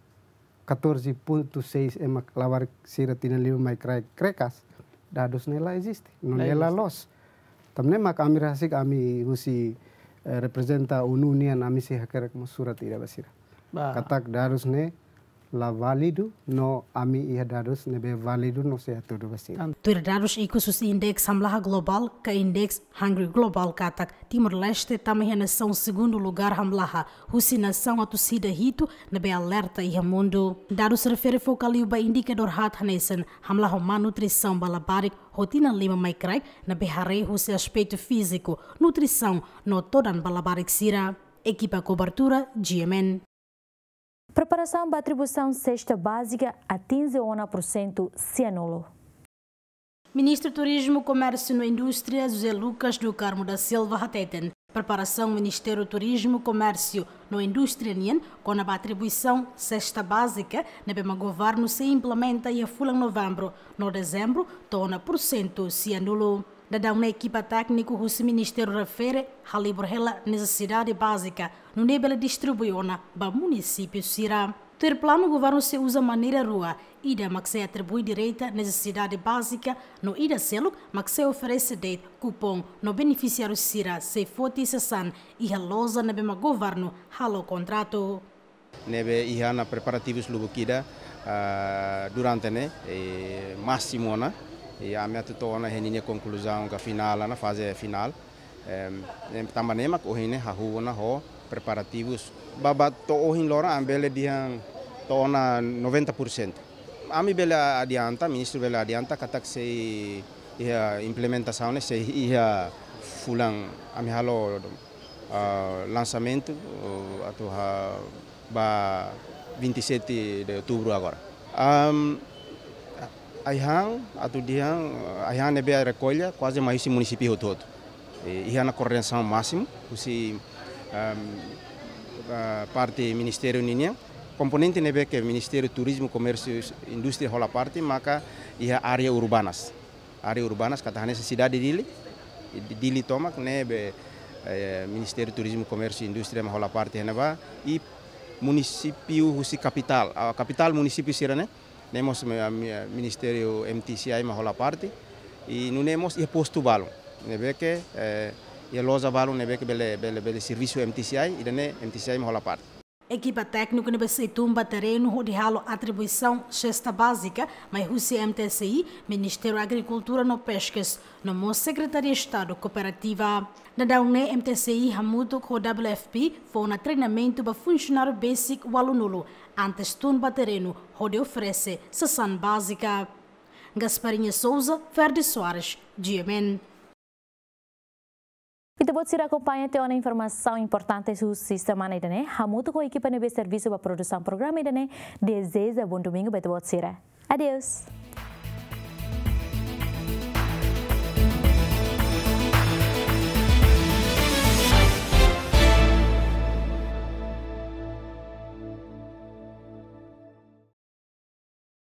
catorze ponto seis ema labarik sira tinan lima mai kraik krekas, dadus ne'e la eziste, no La ne'e la eziste. Loos. Tan ne'e mak ami rasik ami husi, eh, reprezenta ONU nian ami sei hakerek mós surat ida ba sira. Ba. Katak dadus ne'e la válidu, no ami iha dadus ne'ebé válidu no sei hatudu ba sira. Tan- Tuir dadus ikus husi Index Hamlaha Globál ka Index Hungry Global katak Timor-Leste tama iha nasaun segundu lugar hamlaha husi nasaun atus ida hitu ne'ebé alerta iha mundu. Dadus refere foka liu ba indikadór haat hanesan hamlaha ho má nutrisaun ba labarik ho tinan lima mai kraik ne'ebé haree husi aspetu fíziku, nutrisaun no todan ba labarik sira. Ekipa kobertura, G M N. Preparasaun ba atribuisaun sesta bázika atinje ona porsentu sianulu. Ministru Turizmu, Komérsiu no Indústria, José Lucas do Carmo da Silva, hateten preparasaun Ministériu Turizmu, Komérsiu no Indústria nian kona-ba atribuisaun sesta bázika ne'ebé mak governu sei implementa iha fulan Novembru no Dezembru to'o ona porsentu sianulu. Daudaun ne'e ekipa tékniku husi ministériu refere halibur hela nesesidade bázika nune'e bele distribui ona ba munisípiu sira. Tuir planu governu sei uza maneira rua, ida mak sei atribui direta nesesidade bázika no ida seluk mak sei oferese de'it kupon no benefisiáriu sira sei foti sasán iha loja ne'ebé mak governu halo kontratu. Ne'ebé iha ona preparativus lubuk ida, ah, durante ne'e, eh, másimu ona, i ami atu to'o ona iha ninia konkluzaun ka finál ona, faze finál. Em, em, tanba ne'e mak ohin ne'e hahú ona ho preparativus. Ba, ba to'o ohin loron ami bele dehan to'o ona noventa por cento. Ami bele adianta, ministru bele adianta, katak sei iha implementasaun ne'e, sei iha fulan ami halo ah, lansamentu, oh, atu ha-, ba vinte e sete de outubro agora. Am, ai-han, atu dehan, ai-han ne'ebé rekolla, kuaze mai husi munisípiu hotu-hotu. E, iha ona koordenasaun másimu, husi, am, ah, parte ministériu ninian, komponente ne'ebé ke Ministériu Turizmu, Komérsiu, Indústria hola parte, maka iha área urbanas. Área urbanas, katak hanesan sidade Dili, Dili tomak, ne'ebé, eh, Ministériu Turizmu, Komérsiu, Indústria mak hola parte iha ne'ebá, i munisípiu husi kapitál, ah, kapitál munisípiu sira-ne'e, ne'e mós mi-, mi-, Ministériu M T C I mak hola parte, i nune'e mós iha postu balun, ne'ebé ke, eh, iha loja balun, ne'ebé ke bele, bele, bele servisu M T C I, ida-ne'e M T C I mak hola parte. Ekipa tékniku ne'ebé sei tun ba terrenu hodi halo atribuisaun sesta bázika, mai husi M T C I, Ministériu Agrikultura no Peskas, no mós Sekretaria Estadu Kooperativa. Daudaun ne'e M T C I hamutuk ho W F P fó ona treinamentu ba funsionáriu besik ualunulu, antes tun ba terrenu hodi oferese sasán bázika. Gasparinha Souza, Ferdi Soares, G M N. Ita-boot sira akompaña tiha ona informasaun importante husi semana ida-ne'e, hamutuk ho ekipa ne'ebé servisu ba produsaun programa ida-ne'e, dezeja bom domingo ba ita-boot sira. Adeus.